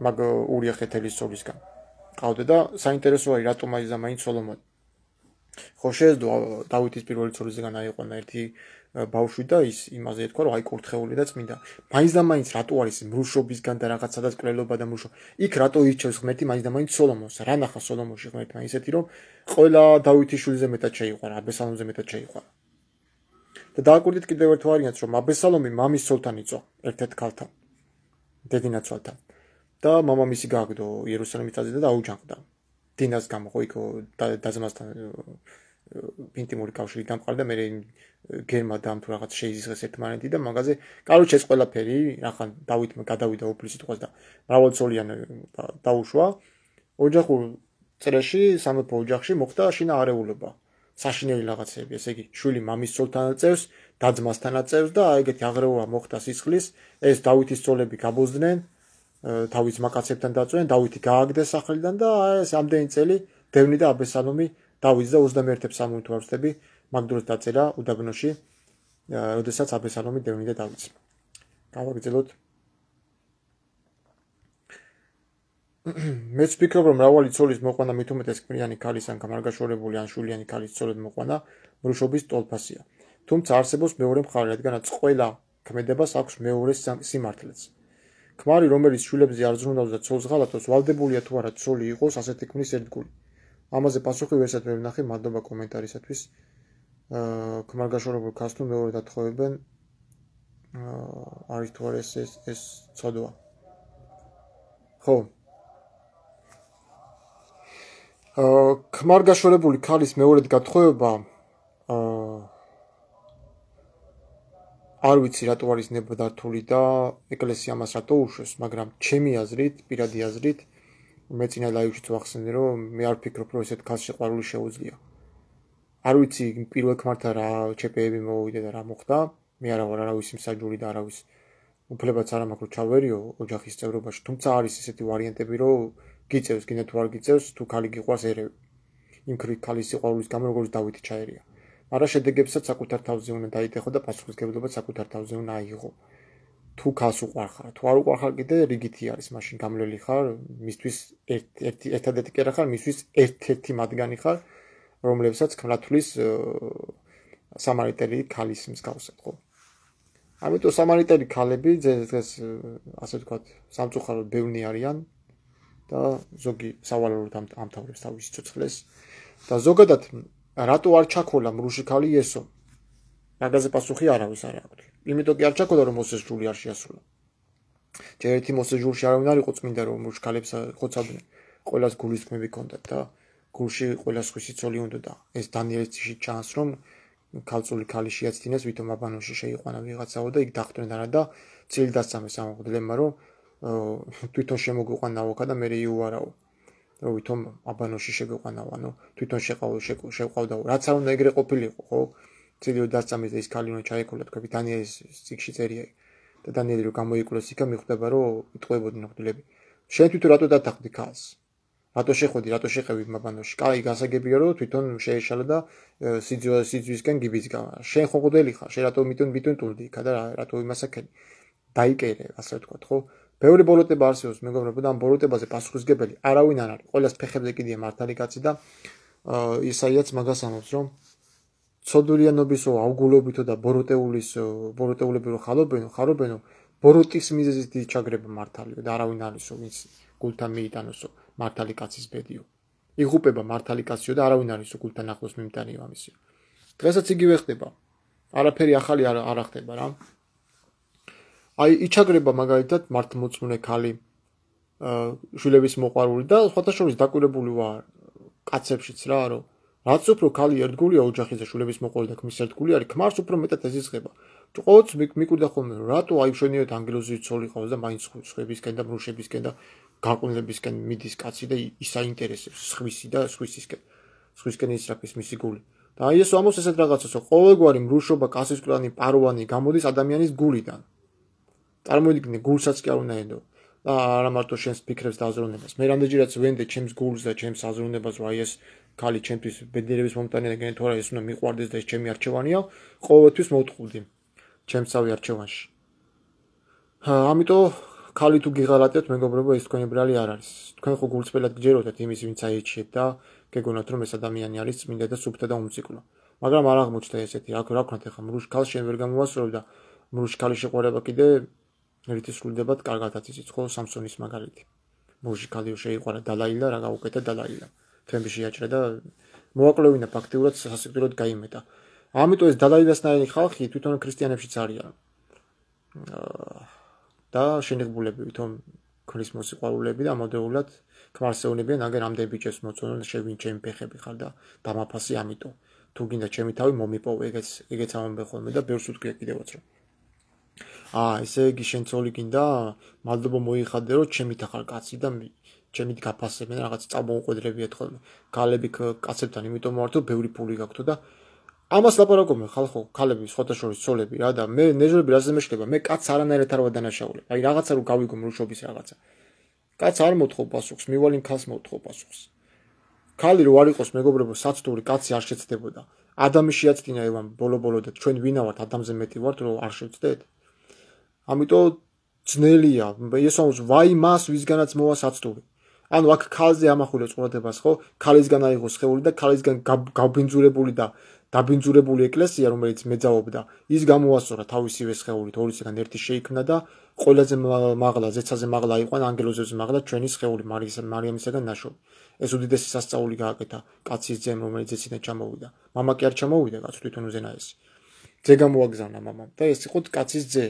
S1: მაგ ურია ხეთელის ცოლისგან. ყავდა და საინტერესო არის რატომ მაინც და მაინც სოლომონი. ხო შეეძლო დავითის პირველი ცოლისგან აიყვანა ერთი ბავშვი და ის იმაზე ეთქვა რომ აი კურთხეული და წმინდა. მაინც და მაინც რატო არის მრუშობისგან და რაღაც სადაც კვლელობა და მრუშო. იქ რატო ირჩევს ღმერთი მაინც და მაინც სოლომონს? რა ნახა სოლომონში ღმერთმა ისეთი რომ ყველა დავითის შვილზე მეტად შეიყვარა, აბესალომზე მეტად შეიყვარა. და დააკვირდით კიდევ ერთ ვარიანტს რომ აბესალომი მამის ცოლთან იწვა, ერთ-ერთ ქალთან, დედინაცვალთან. და მამამისი გააგდო იერუსალიმის თაზე და დაუჯანყდა. დინას გამო ხო იქ დაძმასთან ინტიმური კავშირი დამყარდა, მე გერმა და ამ თუ რაღაც შეიზღეს ერთმანეთი და მაგაზე, კაროჩე ეს ყველაფერი, რახან დავითმა გადავიდა უფლის სიტყვას და მრავალცოლიან დაუშვა. ოჯახურ წრეში, სამეფო ოჯახში მოხდა შინა არეულობა. საშინელი რაღაცები, ესე იგი, შვილი მამის ცოლთან აწევს, დაძმასთან აწევს და ეგეთი აღრევა მოხდა სისხლის, ეს დავითის ცოლები გაბოზდნენ. თავის მაკაცებთან დაწვენ, დავითი გააგდეს სახლიდან და ეს ამდენი წელი დევნი და აბესალომი დავითს და 21 სამუდ ვარსთები მაგ დროს დაწერა უდაბნოში, როდესაც აბესალომი დევნი და დავითს. გავაგრძელოთ. მეც ვფიქრობ, რომ მრავალი ცოლის მოყვანა მით უმეტეს ქმრიანი ქალის ან გამარგაშორებული ან შვილიანი ქალის ცოლად მოყვანა მრუშობის ტოლფასია. თუმცა არსებობს მეორე მხარე, რადგანაც ყველა ქმედებას აქვს მეორე სიმართლეც. ქმარი, რომელიც შვილებზე არ ზრუნავს და ცოლს ღალატობს, ვალდებულია თუ არა ცოლი იყოს ასეთი ქმრის ერთგული. ამაზე პასუხი ვერცად ვერ ვნახე, მადლობა კომენტარისათვის. ქმარგაშორებულ ქალს თუ მეორე დათხოვებენ, არის თუ არა ეს ცოდვა. ხო. ქმარგაშორებული ქალის მეორედ გათხოვება არ ვიცი რატო არის ნებადართული და ეკლესია მას რატო უშვებს, მაგრამ ჩემი აზრით, პირადი აზრით, მე წინა ლაივშიც ვახსენე, რომ მე არ ვფიქრობ, რომ ესეთ ქალს სიყვარული შეუძლია. არ ვიცი პირველ ქმართან რა ჩეპეები მოვიდა და რა მოხდა, მე არა ვარ არავის მსაჯული და არავის უფლებაც არ მაქვს ჩავერიო ოჯახის წევრობაში, თუმცა არის ესეთი ვარიანტები, რომ გიწევს, გინდა თუ არ გიწევს, თუ ქალი გიყვარს ერევი. იმ ქალის სიყვარულის გამო როგორც დავითი ჩაერია. მაგრამ შედეგებსაც საკუთარ თავზე უნდა დაიტეხო და პასუხისმგებლობა საკუთარ თავზე უნდა აიღო. თუ ქალს უყვარხარ, თუ არ უყვარხარ კიდე რიგითი არის, მაშინ გამლელი ხარ, მისთვის ერთადერთი კერა ხარ, მისთვის ერთ-ერთი მათგანი ხარ, რომლებსაც ქმრათვლის სამარიტელი ქალის მსგავსად, ხო? ამიტომ სამარიტელი ქალები დღეს ასე ვთქვათ, სამწუხაროდ ბევრი არიან და ზოგი სავალალოდ ამთავრებს თავის სიცოცხლეს და ზოგადად რატო არ ჩაქოლა მრუში ქალი ესო? მაგაზე პასუხი არავის არ აქვს. იმიტომ კი არ ჩაქოლა რომ მოსეს ჯული არ შეასრულა. ჯერ ერთი მოსეს ჯულში არავინ არ იყო წმინდა რომ მუშქალებს ხოცავდნენ. ყველას გულისხმები ჰქონდათ და გულში ყველას ხვისი ცოლი უნდა და ეს დანიელის ციხში ჩანს რომ ქალწული ქალი შეაცდინეს ვითომ აბანოში შეიყვანა ვიღაცაო და იქ დახვდნენ არა და წილი დასწამეს ამ მღვდლებმა რომ თვითონ შემოგვიყვან ნავოქა და მე იუარაო რომ ვითომ აბანოში შეგვიყვანაო ანუ თვითონ შეყავდაო რაც არ უნდა ეგრე ყოფილიყო ხო წილი დასწამეს და ის ქალი უნდა ჩაეკოლა თქვი დანიელის ციხში წერია და დანიელი რომ გამოიკვლეს იქა მიხვდება რომ იტყვებოდნენ მღვდლები შენ თვითონ რატო დათანხმდი ქალს რატო შეხვედი, რატო შეყევი მაბანოში? კაი, გასაგებია რომ თვითონ შეეშალა და სიძვისკენ გიბიძგა. შენ ხო მღვდელი ხარ, შენ რატო მიტუნ ტულდი იქა და რატო იმასაკენი? დაიკერე, ასე ვთქვათ, ხო? ბევრი ბოროტება არსებობს, მეგობრებო, და ამ ბოროტებაზე პასუხისგებელი არავინ არ არის. ყველას ფეხებზე კიდია მართალი კაცი და ისაიაც მაგას ამბობს, რომ ცოდურიანობისო, ავგულობითო და ბოროტეულები რო ხარობენო, ბოროტის მიზეზით ჩაგრება მართალიო და არავინ არისო, ვინც გულთან მიიტანოსო. მართალი კაცის ბედიო. იღუპება მართალი კაციო და არავინ არისო გულთან ახლოს მიმტანიო ამისიო. დღესაც იგივე ხდება. არაფერი ახალი არ ხდება რა. აი იჩაგრება მაგალითად მართლმორწმუნე ქალი შვილების მოყვარული და სხვათა შორის დაკვირებული ვარ კაცებშიც რა რომ რაც უფრო ქალი ერთგულია ოჯახის შვილების მოყვარული და ქმრის ერთგული არის ქმარს უფრო მეტად ეზიზღება. ყოველთვის მიკვირდა ხოლმე რომ რატო აი შენიერ ანგელოზი ცოლი ყავს და მაინც სხვებისკენ და ბრუშებისკენ და გაყვნებისკენ მიდის კაცი და ისაინტერესებს სხვისკენ ისრაფის მისი გული. და აი ეს ამოს ესეთ რაღაცას რომ ყოველგვარი მრუშობა, კასისკვანი, პაროვანი გამოდის ადამიანის გულიდან. წარმოიდგინე გულსაც კი არ უნდა ენდო. და არა მარტო შენს ფიქრებს და აზროვნებას. მე რამდენჯერაც ვენდე ჩემს გულს და ჩემს აზროვნებას რომ აი ეს ქალი ჩემთვის ბედნიერების მომტანია და გენით თორე ეს უნდა მიყვარდეს და ეს ჩემი არჩევანია, ყოველთვის მოვთხოვდი ჩემსავე არჩევანში. ამიტომ ქალი თუ გიღალატებთ მეგობრებო ეს თქვენი ბრალი არ არის. თქვენ ხო გულწრფელად გჯეროდათ იმის ვინც აიჩიეთ და გეგონათ რომ ეს ადამიანი არის წმინდა და სუფთა და უმციკლო. მაგრამ არ აღმოჩნდა ესეთი რა ვქნათ ახლა მრუშ ქალს შენ ვერ გამოვასწორებ და მრუშ ქალის შეყვარება კიდე ერთი სრულდებათ კარგათაც იცით ხო სამსონის მაგალითი. მრუში ქალიო შეიყვარა დალაილა რა გაუკეთა დალაილა. თემში შეაჭრა და მოაკლევინა ფაქტიურად სასიკვდილოდ გაიმეტა. ამიტომ ეს დალაილასნაირი ხალხი თვითონ ქრისტიანებშიც არიან. და შენიღბულები ვითომ ქმრის მოსიყვარულეები და ამოდეულად ქმარსეუნებიან აგერ ამდენ ბიჭებს მოწონონ შევინ ჩემი ფეხები ხარ და დამაფასი ამიტომ თუ გინდა ჩემი თავი მომიპოვე ეგეც ამბობენ ხოლმე და ბევრს უთქვია კიდევაც რომ ესე იგი შენ ცოლი გინდა მადლობა მოიხადე რომ ჩემით ახარ კაცი და ჩემით გაფასებენ რაღაც წამოუყვედრებიათ ხოლმე ქალები კაცებთან იმიტომ მოვართო ბევრი ფული გაქვთ და ამას ლაპარაკობენ ხალხო, ქალები, სხვათა შორის ცოლები რა და მე ნეჟრები რაზე მეშლება, მე კაცს არანაირად არ ვადანაშაულებ. აი რაღაცა რომ გავიგო მრუშობის რაღაცა. კაცს არ მოთხოვ პასუხს, მივალ იმ ქალს მოთხოვ პასუხს. ქალი რო არ იყოს მეგობრებო, საცდური კაცი არ შეცდებოდა. ადამი შეაცდინა ევან ბოლო-ბოლო და ჩვენ ვინა ვართ, ადამიანზე მეტი ვართ, რომ არ შევცდეთ. ამიტომ ძნელია, ესაუს ვაი მას ვისგანაც მოვა საცდური. ანუ აქ ქალზე ამახვილებს ყურადებას ხო? ქალისგან აიღო სხეული და ქალისგან გაბინძურებული და დაბინძურებული ეკლესია რომელიც მეძაობდა ის გამოასწორა თავისივე სხეულით ორისგან ერთი შეიქმნა და ყველაზე მაღლა ზეცაზე მაღლა იყვან ანგელოზებზე მაღლა ჩვენი სხეული მარიამისაგან ნაშოვნი ეს უდიდესი სასწაული გააკეთა კაცის ძემ რომელიც ზეციდან ჩამოვიდა მამა კი არ ჩამოვიდა კაც თვითონ უზენაესი ძე გამოაგზავნა მამამ და ეს იყო კაცის ძე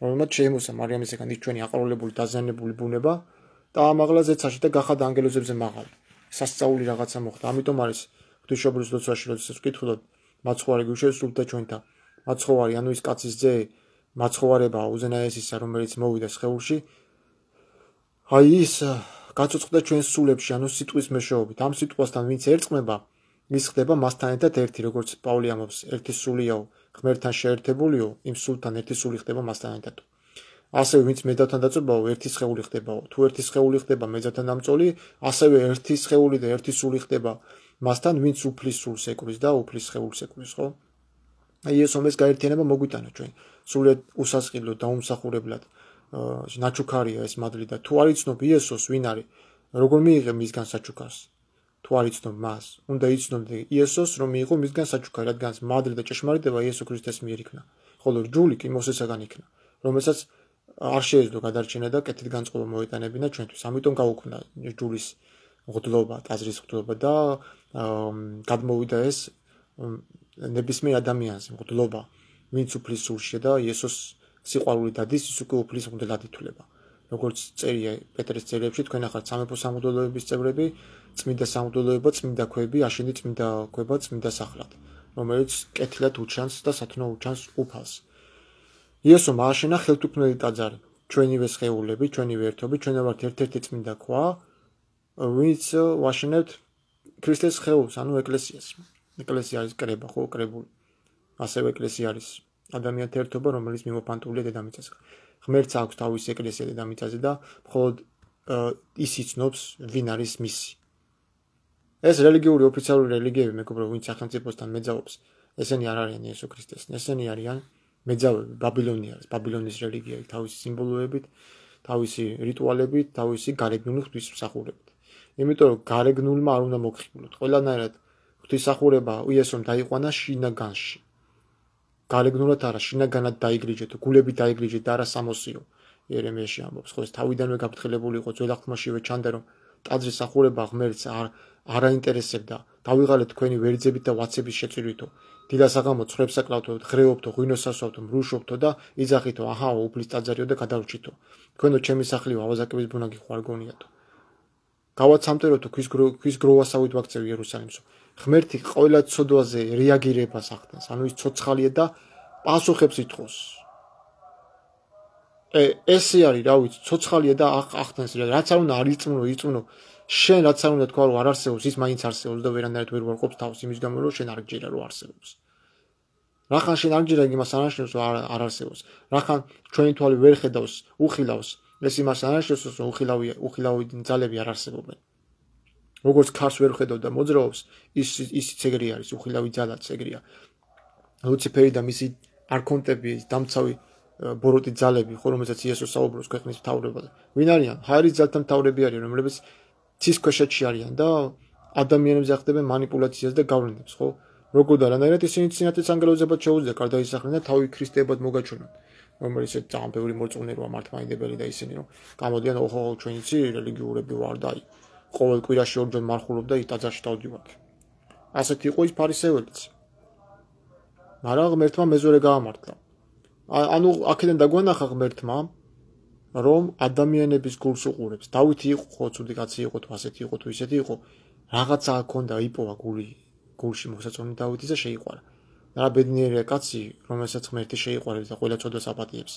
S1: რომელმაც შეიმოსა მარიამისაგან ის ჩვენი აყროლებული დაზიანებული ბუნება და ამაღლა ზეცაში და გახადა ანგელოზებზე მაღალი სასწაული რაღაცა მოხდა ამიტომ არის ღვთისმშობლის ლოცვაში როდესაც ვკითხულობ მაცხოვარი გუშევსულთა ჩვენთან მაცხოვარი ანუ ის კაცის ძე მაცხოვარებაა უზენაესისა რომელიც მოვიდა სხეულში აი ის გაწოწყდა ჩვენს სულებში ანუ სიტყვის მეშვეობით ამ სიტყვასთან ვინც ერწყმება ის ხდება მასთან ერთად ერთი როგორც პავლე ამბობს ერთი სულიაო ღმერთთან შეერთებულიო იმ სულთან ერთი სული ხდება მასთან ერთად ასევე ვინც მეძავთან დაწურბაო ერთი სხეული ხდებაო თუ ერთი სხეული ხდება მეძავთან დამწოლი ასევე ერთი სხეული და ერთი სული ხდება მასთან ვინც უფლის სულს ეკრის და უფლის სხეულს ეკრის ხო აი ეს ომეს გაერთიანება მოგვიტანა ჩვენ სულად უსასყიდლო და უმსახურებლად ნაჩუქარია ეს მადლი და თუ არ იცნობ იესოს ვინ არის როგორ მიიღე მისგან საჩუქარს თუ არ იცნობ მას უნდა იცნობდე იესოს რომ მიიღო მისგან საჩუქარი რადგან მადლი და ჭეშმარიტება იესო ქრისტეს მიერ იქნა ხოლო ჯული კი მოსესაგან იქნა რომელსაც არ შეეძლო გადარჩენა და კეთილ განწყობა მოეტანებინა ჩვენთვის ამიტომ გაუქმნა ჯულის ღდლობა ტაძრის ღდლობა და გადმოვიდა ეს ნებისმიერ ადამიანს ღდლობა ვინც უფლის სულშია და იესოს სიყვარული დადის, ის უკვე უფლის მღვდელად ითვლება. როგორც წერია პეტრეს წერილებში, თქვენ ახართ სამეფო სამღვდელოების წევრები, წმინდა სამღვდელოება, წმინდა ქვები, აშენდი წმინდა ქვება, წმინდა სახლად, რომელიც კეთილად უჩანს და სათნო უჩანს უფალს. იესომ ააშენა ხელთუქმნელი ტაძარი, ჩვენივე სხეულები, ჩვენივე ერთობი, ჩვენ ვართ ერთ-ერთი წმინდა ქვა, ვინც ვაშენებთ ქრისტეს სხეულს, ანუ ეკლესიას. ეკლესია არის კრება, ხო, კრებული. ასევე ეკლესია არის ადამიანთა ერთობა, რომელიც მიმოფანტულია დედამიწაზე. ღმერთს აქვს თავისი ეკლესია დედამიწაზე და მხოლოდ ის იცნობს, ვინ არის მისი. ეს რელიგიური ოფიციალური რელიგიები, მეგობრებო, ვინც სახელმწიფოსთან მეძავობს, ესენი არ არიან იესო ქრისტეს, ესენი არიან მეძავები, ბაბილონის რელიგიები, თავისი სიმბოლოებით, თავისი რიტუალებით, თავისი გარეგნული ღვთისმსახურებით. იმიტომ რომ გარეგნულმა არ უნდა მოგხიბლოთ. ყველანაირად ღვთისმსახურება იესომ დაიყვანა შინაგანში. გარეგნულად არა, შინაგანად დაიგრიჯეთ, გულებით დაიგრიჯეთ და არა სამოსიო. იერემიაში ამბობს, ხო, ეს თავიდანვე გაფრთხილებული იყო, ძველ აღთქმაშივე ჩანდა, რომ ტაძრის სახურება ღმერთს არ აინტერესებდა. დავიღალეთ თქვენი ვერძებით და ვაცების შეწირვითო. დილას აღამო ცხვრებს აკლავთო, ღრეობთო, ღვინოს ასვავთო, მრუშობთო და იძახითო, აჰა, უფლის ტაძარიო და გადავრჩითო. თქვენო ჩემი სახლიო, ავაზაკების ბუნაგი ხო არ გონიათო. გავაცამტეროთო, ქვის გროვასავით ვაქცევ იერუსალიმსო. ღმერთი ყველა ცოდვაზე რეაგირებას ახდენს, ანუ ის ცოცხალია და პასუხებს ითხოვს. ესე არის, რა ვიცი, ცოცხალია და ახდენს, რაც არ უნდა არ იწმუნო, შენ რაც არ უნდა თქვა, რომ არ არსებობს, ის მაინც არსებობს და ვერანაირად ვერ ვარყოფს თავს იმის გამო, რომ შენ არ გჯერა, რომ არსებობს. რახან შენ არ გჯერა, იმას არ აღნიშნავს, რომ არ არსებობს. რახან ჩვენი თვალი ვერ ხედავს, უხილავს, ეს იმას არ აღნიშნავს, რომ უხილავი ძალები არ არსებობენ. როგორც ქარს ვერ ხედავ და მოძრაობს, ისიც ეგრე არის, უხილავი ძალაც ეგრეა. ლუციფერი და მისი არქონტები, დამცავი ბოროტი ძალები, ხო, რომელსაც იესო საუბრობს ქვეყნის მთავრებაზე. ვინ არიან? ჰაერის ძალთა მთავრები არიან, რომლებიც ცის ქვეშეთში არიან და ადამიანებს ახდებენ манипуляციას და გავლენებს, ხო? როგორ და რანაირად ისინი წინათაც ანგელოზებად შეუძლია გარდაისახნენ და თავი ქრისტეებად მოგაჩვენონ. რომელიც ძალიან ბევრი მორწმუნე როა მართლმადიდებელი და ისინი რომ გამოდიან, ოხო, ჩვენ იცი რელიგიურები ვარ და ყოველ კვირაში ორჯერ მარხულობ და ტაძარში დავდივარ. ასეთი იყო ის ფარისეველიც. მაგრამ ღმერთმა მეზორე გაამართლა. ანუ აქედან დაგვანახა ღმერთმა, რომ ადამიანების გულს უყურებს. დავითი იყო ხო, ცუდი კაცი იყო თუ ასეთი იყო თუ ისეთი იყო, რაღაცა ჰქონდა, იპოვა გულში მოსაწონი დავითის და შეიყვარა. რა ბედნიერია კაცი, რომელსაც ღმერთი შეიყვარებს და ყველა ცოდვას აპატიებს.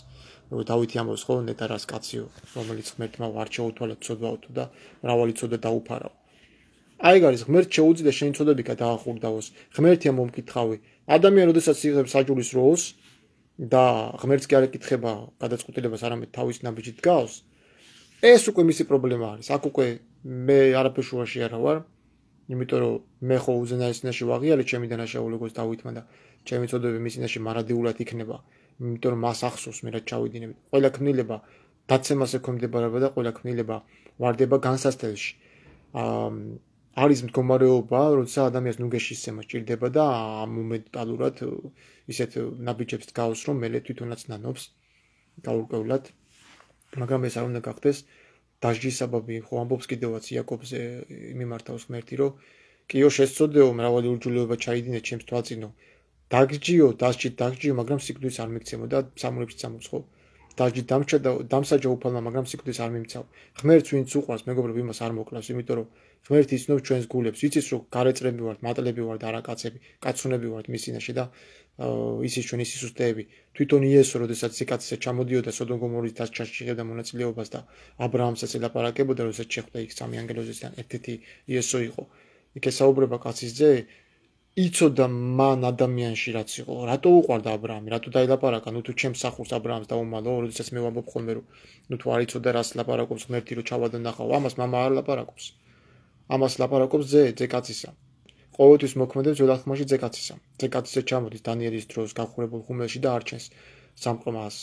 S1: დავითი ამბობს ხო, ნეტარას კაციო, რომელიც ღმერთმა არ შეუთვალეთ ცოდვაოთო და მრავალი ცოდვა დაუფარავ. აი გარის ღმერთ შეუძლია შენი ცოდვები გადაახურდაოს. ღმერთია მომკითხავი. ადამიანი როდესაც იღებს საჯურის როლს და ღმერთს კი არ ეკითხება გადაწყვეტილებას, არამედ თავის ნაბიჯით გავს, ეს უკვე მისი პრობლემა არის. აქ უკვე მე არაფერ შუაში არა ვარ, იმიტომ რომ მე ხო უზენაეს წინაშე ვაღიარე ჩემი დანაშაული როგორც დავითმა და ჩემი ცოდვები მის წინაშე მარადიულად იქნება, იმიტომ რომ მას ახსოვს მე რაც ჩავიდინებ. ყველა ქმნილება დაცემას ექვემდებარება და ყველა ქმნილება ვარდება განსასწრებში. არის მდგომარეობა, როცა ადამიანს ნუგეშისცემა სჭირდება და მომენტალურად ისეთ ნაბიჯებს გავს, რომ მელე თვითონაც ნანობს გაურკვევლად, მაგრამ ეს არ უნდა გახდეს დასჯის საბაბი. ხო ამბობს კიდევაც იაკობზე მიმართავს ღმერთი, რომ კიო შესწოდეო, მრავალი ურჯულეობა ჩაიდინე ჩემს თვალწინო. დაგჯიო, დასჯით დაგჯიო, მაგრამ სიკვდილს არ მიგცემო და სამურებში წამოწ, ხო? დასჯით დამსაჯა უფალმა, მაგრამ სიკვდილს არ მიმცავ. ღმერთს ვინც უყვარს, მეგობრებო, იმას არ მოკლავს, იმიტომ რომ ღმერთი იცნობს ჩვენს გულებს, იცის რომ გარეწრები ვართ, მატლები ვართ, არა კაცები, კაცუნები ვართ მის წინაშე და ისის ჩვენი სისუსტეები. თვითონ იესო, როდესაც სიკაცე ჩამოდიოდა სოდომ გომორის დასჯაში შეხედა მონაწილეობას და აბრაამსაც ელაპარაკებოდა, როდესაც შეხვდა იქ სამი ანგელოზისგან ერთ-ერთი იესო იყო. იქ ესაუბრება კაცის ძე, იცოდა მან ადამიანში რაც იყო. რატო უყვარდა აბრაამი? რატო დაელაპარაკა? ნუ თუ ჩემს სახურს აბრაამს დაუმალო, როდესაც მე ვამბობ ხოლმე რომ ნუ თუ არ იცოდა რას ლაპარაკობს ღმერთი, რომ ჩავადო ნახავ, ამას მამა არ ლაპარაკობს. ამას ლაპარაკობს ძე კაცისა. ყოველთვის მოქმედებს ძველ აღთქმაში ძე კაცისა. ძე კაცისა ჩამოდის დანიელის დროს გახურებულ ხუმელში და არჩენს სამყრომას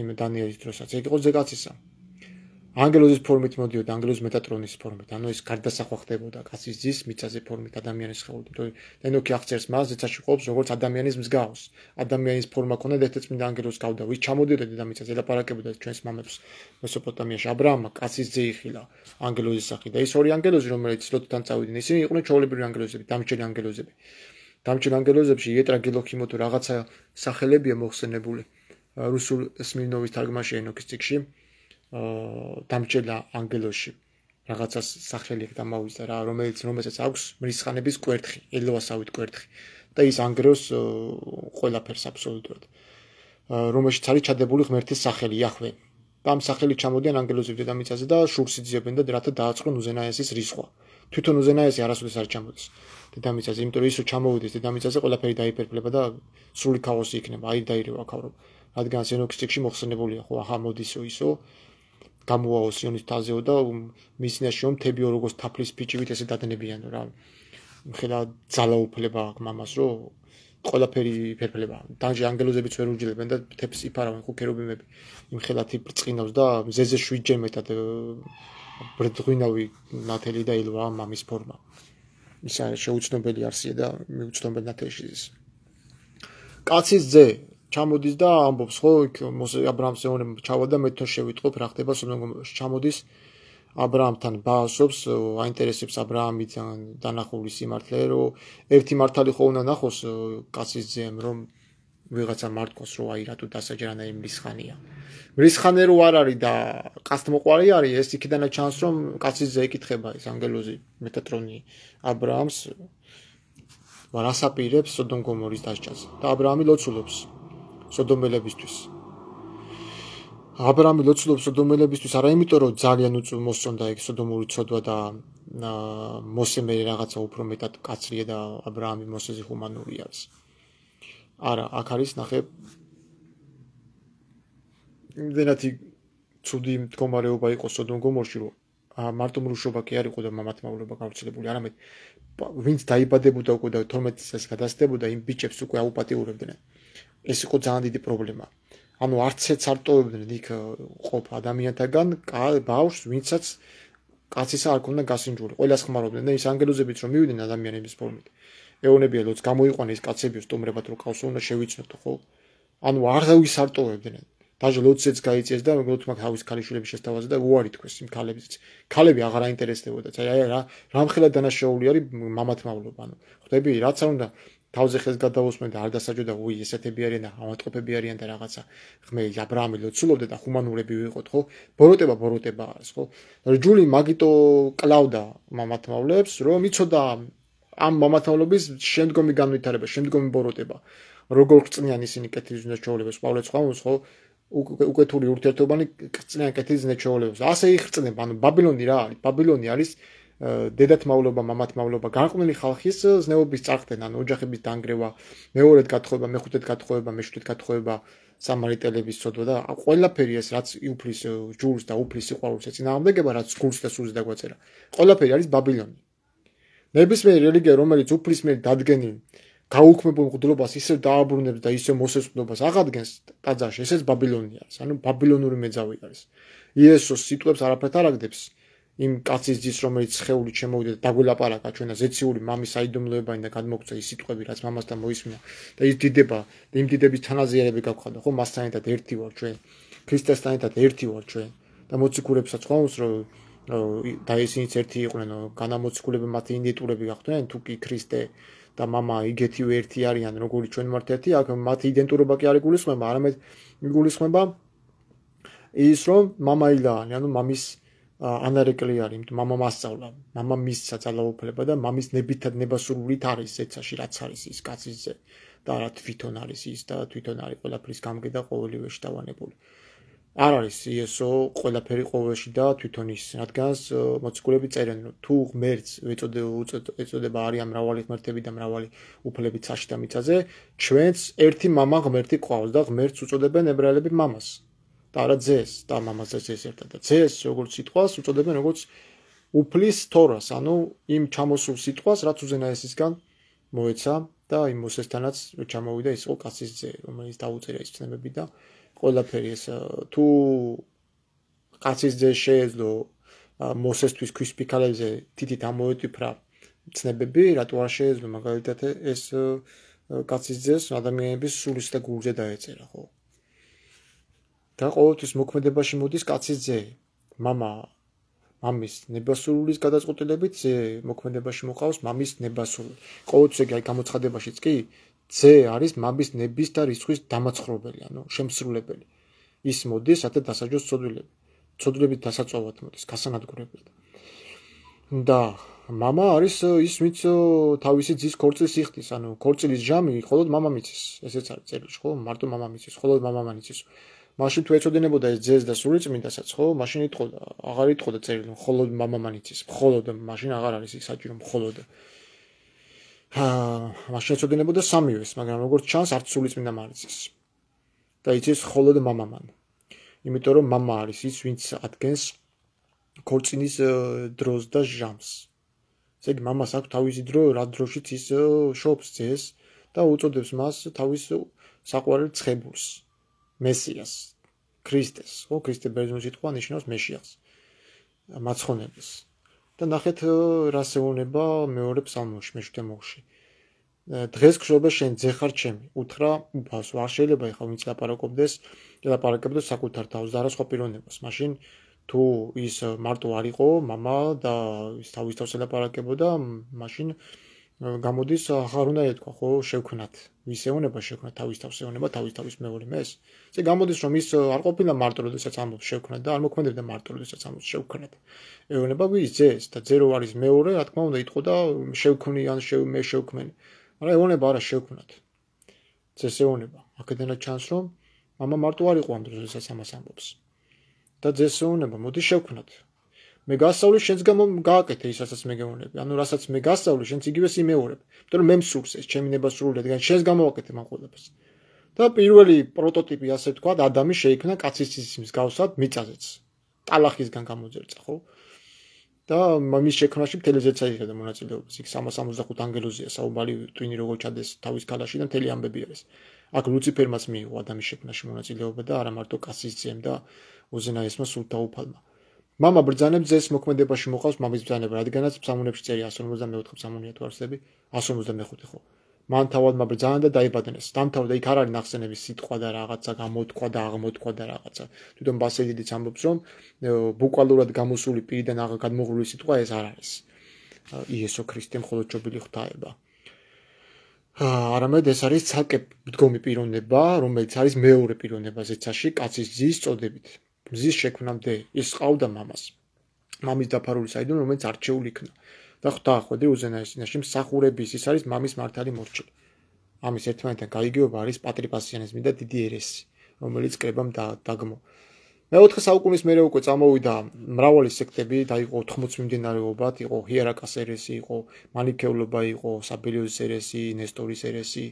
S1: იმ დანიელის დროსაც. ეგ იყო ძე კაცისა. ანგელოზის ფორმით მოდიოდა, ანგელოზის მეტატრონის ფორმით, ანუ ის გარდასახვა ხდებოდა კაცის ძის მიწაზე ფორმით ადამიანის სხეულით. ენოქი აღწერს მას, ზეცაში ყოფს როგორც ადამიანის მსგავს. ადამიანის ფორმა ქონდა და ერთ-ერთ წმინდა ანგელოზს გავდა, ვის ჩამოდიოდა დედამიწაზე, ელაპარაკებოდა ჩვენს მამებს მესოპოტამიაში. აბრაამმა კაცის ძე იხილა ანგელოზის სახით და ის ორი ანგელოზი, რომელიც ლოტთან წავიდნენ, ისინი იყვნენ ჩვეულებრივი ანგელოზები, დამჭერი ანგელოზები. დამჭირ ანგელოზებში იეტრაგილოქიმო თუ რაღაცა სახელებია მოხსენებული რუსულ სმირნოვის თარგმანში ენოქის წიგნში დამჭირდა ანგელოში რაღაცა სახელი დამავიზდა რა რომელსაც აქვს მრისხანების კვერთხი ელოასავით კვერთხი და ის ანგრევს ყველაფერს აბსოლუტურად რომელშიც არის ჩადებული ღმერთის სახელი იახვე და ამ სახელით ჩამოდიან ანგელოზები დედამიწაზე და შურს იძიებენ და რათა დააწყონ უზენაესის რისხვა თვითონ უზენაესი არასოდეს არ ჩამოდის დედამიწაზე იმიტომ რომ ის ჩამოვიდეს დედამიწაზე ყველაფერი დაიფერფლება და სრული ქაოსი იქნება აი დაირევა ქარო რადგან ენოქის წიგნში მოხსენებულია ხო ახლა მოდისო ისო გამოვაო სიონის თაზეო და მისნაშიო მთებიო როგორც თაფლის ფიჭივით ესე დადნებიანო რა ხელა ძალაუფლება აქვს მამას რომ ყველაფერი ფერფლება დანჯი ანგელოზებიც ვერ უჯლებენ და თებს იფარავენ ხო ქერუბიმები იმ ხელათი ბრწყინავს და მზეზე 7 ჯერ მეტად ბრდღვინავი ნათელი და ილვა მამის ფორმა ის არის შეუცნობელი არსია და მიუცნობელ ნათელში ის კაცის ძე ჩამოდის და ამბობს ხო იქ აბრაამს ეონემ ჩავა და მე თვითონ შევიტყობ რა ხდება სოდომში ჩამოდის აბრაამთან ბაასობს აინტერესებს აბრაამიდან დანახული სიმართლე რომ ერთი მართალი ხო უნდა ნახოს კაცის ძემ რომ ვიღაცა მარტყოს რომ აი რატო დასაჯერანა იმ მრისხანია მრისხანე რო არ არის და კაცთმოყვარე არის ეს იქიდანაც ჩანს რომ კაცის ძე ეკითხება ეს ანგელოზი მეტატრონი აბრაამს ვარასაპირებს სოდომ გომორის დასჯას და აბრაამი ლოცულობს სოდომელებისთვის აბრაამი ლოცულობს სოდომელებისთვის არა იმიტომ რომ ძალიან მოსწონდა ეგ სოდომური ცოდვა და მოსე მე რაღაცა უფრო მეტად კაცრია და აბრაამი მოსეზე ჰუმანური არის არა აქ არის ნახე იმდენად ცუდი მდგომარეობა იყო სოდომ გომორში რომ მარტო მრუშობა კი არ იყო და მამათმავლობა გავრცელებული არამედ ვინც დაიბადებოდა უკვე და 12 წელს გადასდებოდა იმ ბიჭებს უკვე აუპატიურებდნენ ეს იყო ძალიან დიდი პრობლემა ანუ არც ეც არ ტოვებდნენ იქ ყოფ ადამიანთაგან ბავშვს ვინცაც კაცისა არ ქონდა გასინჯული ყველას ხმარობდნენ და ის ანგელოზებიც რომ მივიდნენ ადამიანების ფორმით ეონებია ლოც გამოიყვანა ის კაცები სტუმრებად რო ყავსო უნდა შევიცნოთ ხო ანუ არავის არ ტოვებდნენ დაჟე ლოცეც გაიწეს და მეგობრებთ მაგ თავის ქალიშვილების შესთავაზე და უარი თქვეს იმ ქალებიც ქალები აღარ აინტერესდებოდა აი რამხელა დანაშაული არის მამათმავლობა ანუ ხვდები რაც არ უნდა თავზე ხელს გადავოსმენ და არ დასაჯოდა უი ესეთები არიან და ავატყოფები არიან და რაღაცა ღმერთი აბრაამი ლოცულობდა და ჰუმანურები ვიყოთ ხო ბოროტება არის ხო რჯული მაგიტო კლავდა მამათმავლებს რომ იცოდა ამ მამათმავლობის შემდგომი განვითარება შემდგომი ბოროტება როგორ წნიან ისინი კეთილის ნეჩვეულებას პავლეს ყავს ხო უკეთური ურთიერთობანი წნიან კეთილის ნეჩვეულებას ასე იხრწნება ანუ ბაბილონი რა არის ბაბილონი არის დედათმავლობა მამათმავლობა განყმელი ხალხის ზნეობის წარხდენ ანუ ოჯახების დანგრევა მეორედ გათხოვება მეხუთედ გათხოვება მეშვიდედ გათხოვება სამარიტელების ცოდვა და ყველაფერი ეს რაც უფლის ჯულს და უფლის სიყვარულს ეწინააღმდეგება რაც გულს და სულს დაგვაწერა ყველაფერი არის ბაბილონი ნებისმიერი რელიგია რომელიც უფლის მიერ დადგენილ გაუქმებულ მღვდლობას ისევ დააბრუნებს და ისევ მოსესყდობას აღადგენს ტაძარში ესეც ბაბილონი არის ანუ ბაბილონური მეძავი არის იესოს სიტყვებს არაფერთ არ აგდებს იმ კაცის ძის რომელიც ხეულით შემოვიდა და დაგველაპარაკა ჩვენა ზეციური მამის საიდუმლოებანი და გადმოგწა ის სიტყვები რაც მამასთან მოისმინა და ის დიდება და იმ დიდების თანაზიანები გავხდა ხო მასთან ერთად ერთი ვარ ჩვენ ქრისტესთან ერთად ერთი ვარ ჩვენ და მოციქულებსაც ხავს რომ და ისინიც ერთი იყვნენ განამოციქულები მათი იდენტურები გახდნენ თუ კი ქრისტე და мама იგეთივე ერთი არიან როგორი ჩვენ ვართ ერთი აქ მათი იდენტურობა კი არ იგულისხმება არამედ იგულისხმება ის რომ мама ილაანი ანუ მამის ანარეკლი არის мама მასწავლა мама მისცა ძალაუფლება და მამის ნებითად ნებასრულით არის ეცაში რაც არის ის კაცის ძე და რა თვითონ არის ის და თვითონ არის ყველაფრის გამგე და ყოველივე შეტავანებული არ არის იესო ყველაფერი ყოველში და თვითონ ის რადგანაც მოციქულები წერენ რომ თუ ღმერთს ეწოდება არიან მრავალი ღმერთები და მრავალი უფლები ცაში და მიწაზე ჩვენც ერთი мама ღმერთი ყავს და ღმერთს უწოდებენ ებრაელები მამას და არა ძეს და მამასაც ეს ერთად და ძეს როგორც სიტყვას უწოდებენ როგორც უფლის თორას ანუ იმ ჩამოსულ სიტყვას რაც უზენაესისგან მოეცა და იმ მოსესთანაც ჩამოვიდა ის იყო კაცის ძე რომელიც დაუწერა ის ცნებები და ყველაფერი ეს თუ კაცის ძე შეეძლო მოსესთვის ქვის ფიქალებზე თითით ამოეტიფრა ცნებები რატო არ შეეძლო მაგალითად ეს კაცის ძეს ადამიანების სულის და გულზე დაეწერა ხო და ყოველთვის მოქმედებაში მოდის კაცის ძე мама მამის ნებასრულის გადაწყვეტილებით ზე მოქმედებაში მოყავს მამის ნებასრული. ყოველთვის ეგ გამოცხადებაშიც კი ზე არის მამის ნების და რიცხვის დამაცხრობელი, ანუ შემსრულებელი. ის მოდის, რათა დასაჯოს ცოდვილები. ცოდვილებით დასაწვავად მოდის, გასანადგურებლად. და მამა არის ის, ვინც თავისი ძის ქორწილს იხდის, ანუ ქორწილის ჟამი მხოლოდ მამამ იცის. ესეც არის წერილში, ხო? მარტო მამამ იცის, მხოლოდ მამამ იცის. მაშინ თუ ეწოდებოდა ეს ძეს და სულიწმინდასაც, ხო? მაშინ იტყოდა, აღარ იტყოდა წერილი, მხოლოდ მამამ იცის, მხოლოდ მაშინ აღარ არის ის საჭირო მხოლოდ. მაშინ ეწოდებოდა სამივეს, მაგრამ როგორც ჩანს, არც სულიწმინდამ არ იცის. და იცის მხოლოდ მამამან. იმიტომ რომ მამა არის ის, ვინც ადგენს ქორწილის დროს და ჟამს. ესე იგი, მამას აქვს თავისი დრო, რა დროშიც ის შობს ძეს და უწოდებს მას თავის საყვარელ ცხებულს. მესიას, ქრისტეს, ხო, ქრისტე ბერძნულ სიტყვა ნიშნავს მეშიას, მაცხონებელს. და ნახეთ რას ეუბნება მეორე ფსალმოში, მე-7 მოგში. დღეს გშობა შენ ძე ხარ ჩემი, უთხრა უფალს, არ შეიძლება ეხლა ვინც ლაპარაკებდეს საკუთარ თავს და არა სხვა პიროვნებას. მაშინ თუ ის მარტო არ იყო მამა და ის თავის თავს ელაპარაკებოდა, მაშინ გამოდის ახარ უნდა ეთქვა, ხო, შევქმნათ. ვის ეუბნება შევქმნათ თავის თავს, ეუბნება თავის მეორე მეს. ესე გამოდის რომ ის არ ყოფილა მარტო როდესაც ამბობს შევქმნათ და არ მოქმედებდა მარტო როდესაც ამბობს შევქმნათ. ეუბნება ვის ძეს და ძე რო არის მეორე, რა თქმა უნდა იტყოდა შევქმნი ან მე შევქმენი. არა ეუბნება არა შევქმნათ. ძეს ეუბნება. აქედანაც ჩანს რომ მამა მარტო არ იყო ამ დროს როდესაც ამას ამბობს. და ძეს ეუბნება მოდი შევქმნათ. მე გასწავლი შენს გამო გააკეთე ის რასაც მე გეუბნები. ანუ რასაც მე გასწავლი შენც იგივეს იმეორებ. იმიტომ რომ მე მსურს ეს ჩემი ნებასრული რადგან შენს გამო ვაკეთე მან ყველაფერს. და პირველი პროტოტიპი ასე თქვა ადამი შეიქმნა კაცის ცის მსგავსად მიწაზეც. ტალახისგან გამოძერწა, ხო? და მის შექმნაში მთელი ზეცა იღებდა მონაწილეობას. იქ 365 ანგელოზია საუბარი ტვინი როგორ ჩადეს თავის ქალაში და მთელი ამბები არის. აქ ლუციფერმაც მიიღო ადამიანის შექმნაში მონაწილეობა და არა მარტო კაცის ძემ და უზენაესმა სულთა უფალმა. მამა ბრძანებს ძეს მოქმედებაში მოყავს მამის ბრძანება, რადგანაც ფსალმუნებში წერია 154 ფსალმუნია თუ არსები, 155 ხო. მან თავადმა ბრძანა და დაიბადნეს. დამთავრდა იქ არ არის ნახსენების სიტყვა და რაღაცა გამოთქვა და აღმოთქვა და რაღაცა. თვითონ ბასილიდიც ამბობს რომ ბუკვალურად გამოსული პირიდან გადმოღრული სიტყვა ეს არ არის. იესო ქრისტე მხოლოდ ჯობილი ღვთაება. არამედ ეს არის ცალკე მდგომი პიროვნება, რომელიც არის მეორე პიროვნება ზეცაში კაცის ძის წოდებით. მზის შექმნამდე ის ყავდა მამას. მამის დაფარული საიდუმლო, რომელიც არჩეული იქნა. და ხვდა ხვედრი უზენაესობაში მსახურების ის არის მამის მართალი მორჩილი. ამის ერთმანეთთან გაიგივება არის პატრიპასიანიზმი და დიდი ერესი, რომელიც კრებამ დაგმო. მე-4 საუკუნის მერე უკვე წამოვიდა მრავალი სექტები, დაიყო 80 მიმდინარეობად, იყო ჰიერაკას ერესი, იყო მანიქეულობა, იყო საბელიოზის ერესი, ნესტორის ერესი.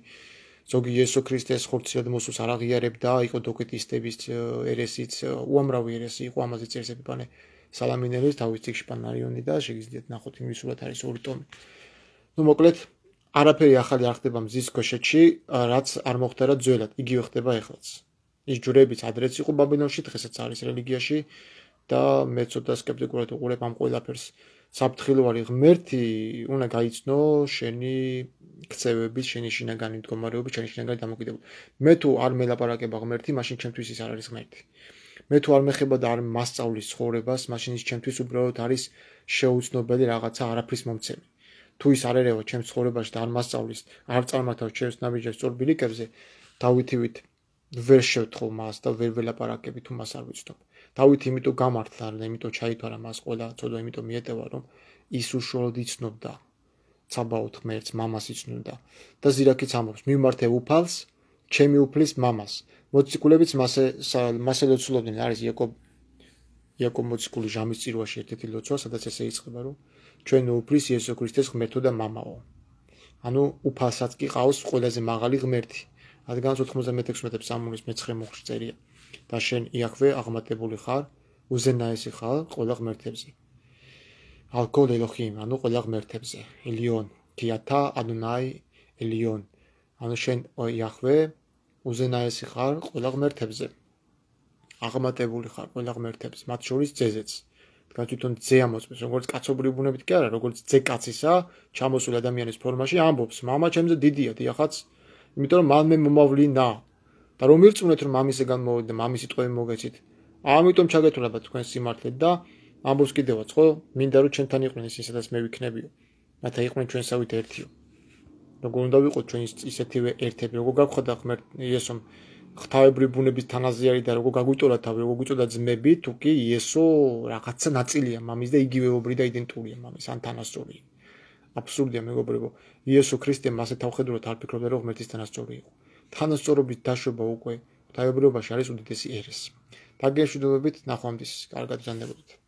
S1: ზოგი იესო ქრისტეს ხორციელად მოსულს არ აღიარებდა, იყო დოკეტისტების ერესიც, უამრავი ერესი იყო, ამაზე წერს ეპიფანე სალამინელის თავის წიგნში პანარიონი და შეგიძლიათ ნახოთ ინგლისურად არის 2 ტომი. ნუ მოკლედ, არაფერი ახალი არ ხდება მზის ქვეშეთში, რაც არ მოხდა ძველად, იგივე ხდება ეხლაც. ის ჯვრებიც ადრეც იყო ბაბილონში, დღესაც არის რელიგიაში და მე ცოტა სკეპტიკურად უყურებ ამ ყველაფერს. საფრთხილოვანი ღმერთი უნდა გაიცნო შენი ქცევების, შენი შინაგანი მდგომარეობის, შენი შინაგანი დამოკიდებულება. მე თუ არ მელაპარაკება ღმერთი, მაშინ ჩემთვის ის არ არის ღმერთი. მე თუ არ მეხება და არ მასწავლის ცხოვრებას, მაშინ ის ჩემთვის უბრალოდ არის შეუცნობელი რაღაცა არაფრის მომცემი. თუ ის არ ერევა ჩემს ცხოვრებაში და არ მასწავლის, არ წარმართავს ჩემს ნაბიჯებს სწორ ბილიკებზე, დავითივით ვერ შევთხოვ მას და ვერ ველაპარაკები თუ მას არ ვიცნობ. დავით იმიტომ გამართლა და იმიტომ ჩაითვალა მას ყველა ცოდვა, იმიტომ მიეტევა რომ ის უშუალოდ იცნობდა ცაბაოთ ღმერთს, მამას იცნობდა და ზირაქიც ამბობს მიმართე უფალს, ჩემი უფლის მამას. მოციქულებიც მასე ლოცულობდნენ, არის იაკობ მოციქული ჟამის წირვაში ერთ-ერთი ლოცვა, სადაც ესე იწყება რომ ჩვენ უფლის იესო ქრისტეს ღმერთო და მამაო. ანუ უფალსაც კი ყავს ყველაზე მაღალი ღმერთი. რადგანაც 96 ფსალმუნის მე-9 მუხლში წერია და შენ იახვე აღმატებული ხარ, უზენაესი ხარ ყველა ღმერთებზე. ალკოლ ელოჰიმ, ანუ ყველა ღმერთებზე. ელიონ, ქიათა ადონაი ელიონ. ანუ შენ იახვე უზენაესი ხარ ყველა ღმერთებზე. აღმატებული ხარ ყველა ღმერთებზე, მათ შორის ძეზეც. რადგან თვითონ ძე ამოწმებს, როგორც კაცობრივი ბუნებით კი არა, როგორც ძე კაცისა, ჩამოსული ადამიანის ფორმაში ამბობს, მამა ჩემზე დიდია, დიახაც, იმიტომ რომ მან მე მომავლინა. და რომ ირწმუნეთ რომ მამისგან მოვიდა, მამის სიტყვები მოგეცით. ამიტომ ჩაგეთვალებათ თქვენ სიმართლე და ამბობს კიდევაც, ხო? მინდა რომ ჩვენთან იყვნენ ისინი, სადაც მე ვიქნებიო. რათა იყვნენ ჩვენსავით ერთიო. როგორ უნდა ვიყოთ ჩვენ ისეთივე ერთები, როგორ გაგხვდა ღმერთ იესომ ღვთაებრივი ბუნების თანაზიარი და როგორ გაგვიტოლა თავი, როგორ გვიწოდა ძმები, თუ კი იესო რაღაცა ნაწილია მამის და იგივეობრი და იდენტურია მამის, ან თანასწორია. აბსურდია მეგობრებო. იესო ქრისტემ მასე თავხედურად არ ფიქრობდა რომ ღმერთის თანასწორი იყო. თანასწორობის დაშვება უკვე ღვთაებრიობაში არის უდიდესი ერესი. დაგიშვიდობებით ნახვამდის, კარგად ბრძანდებოდეთ.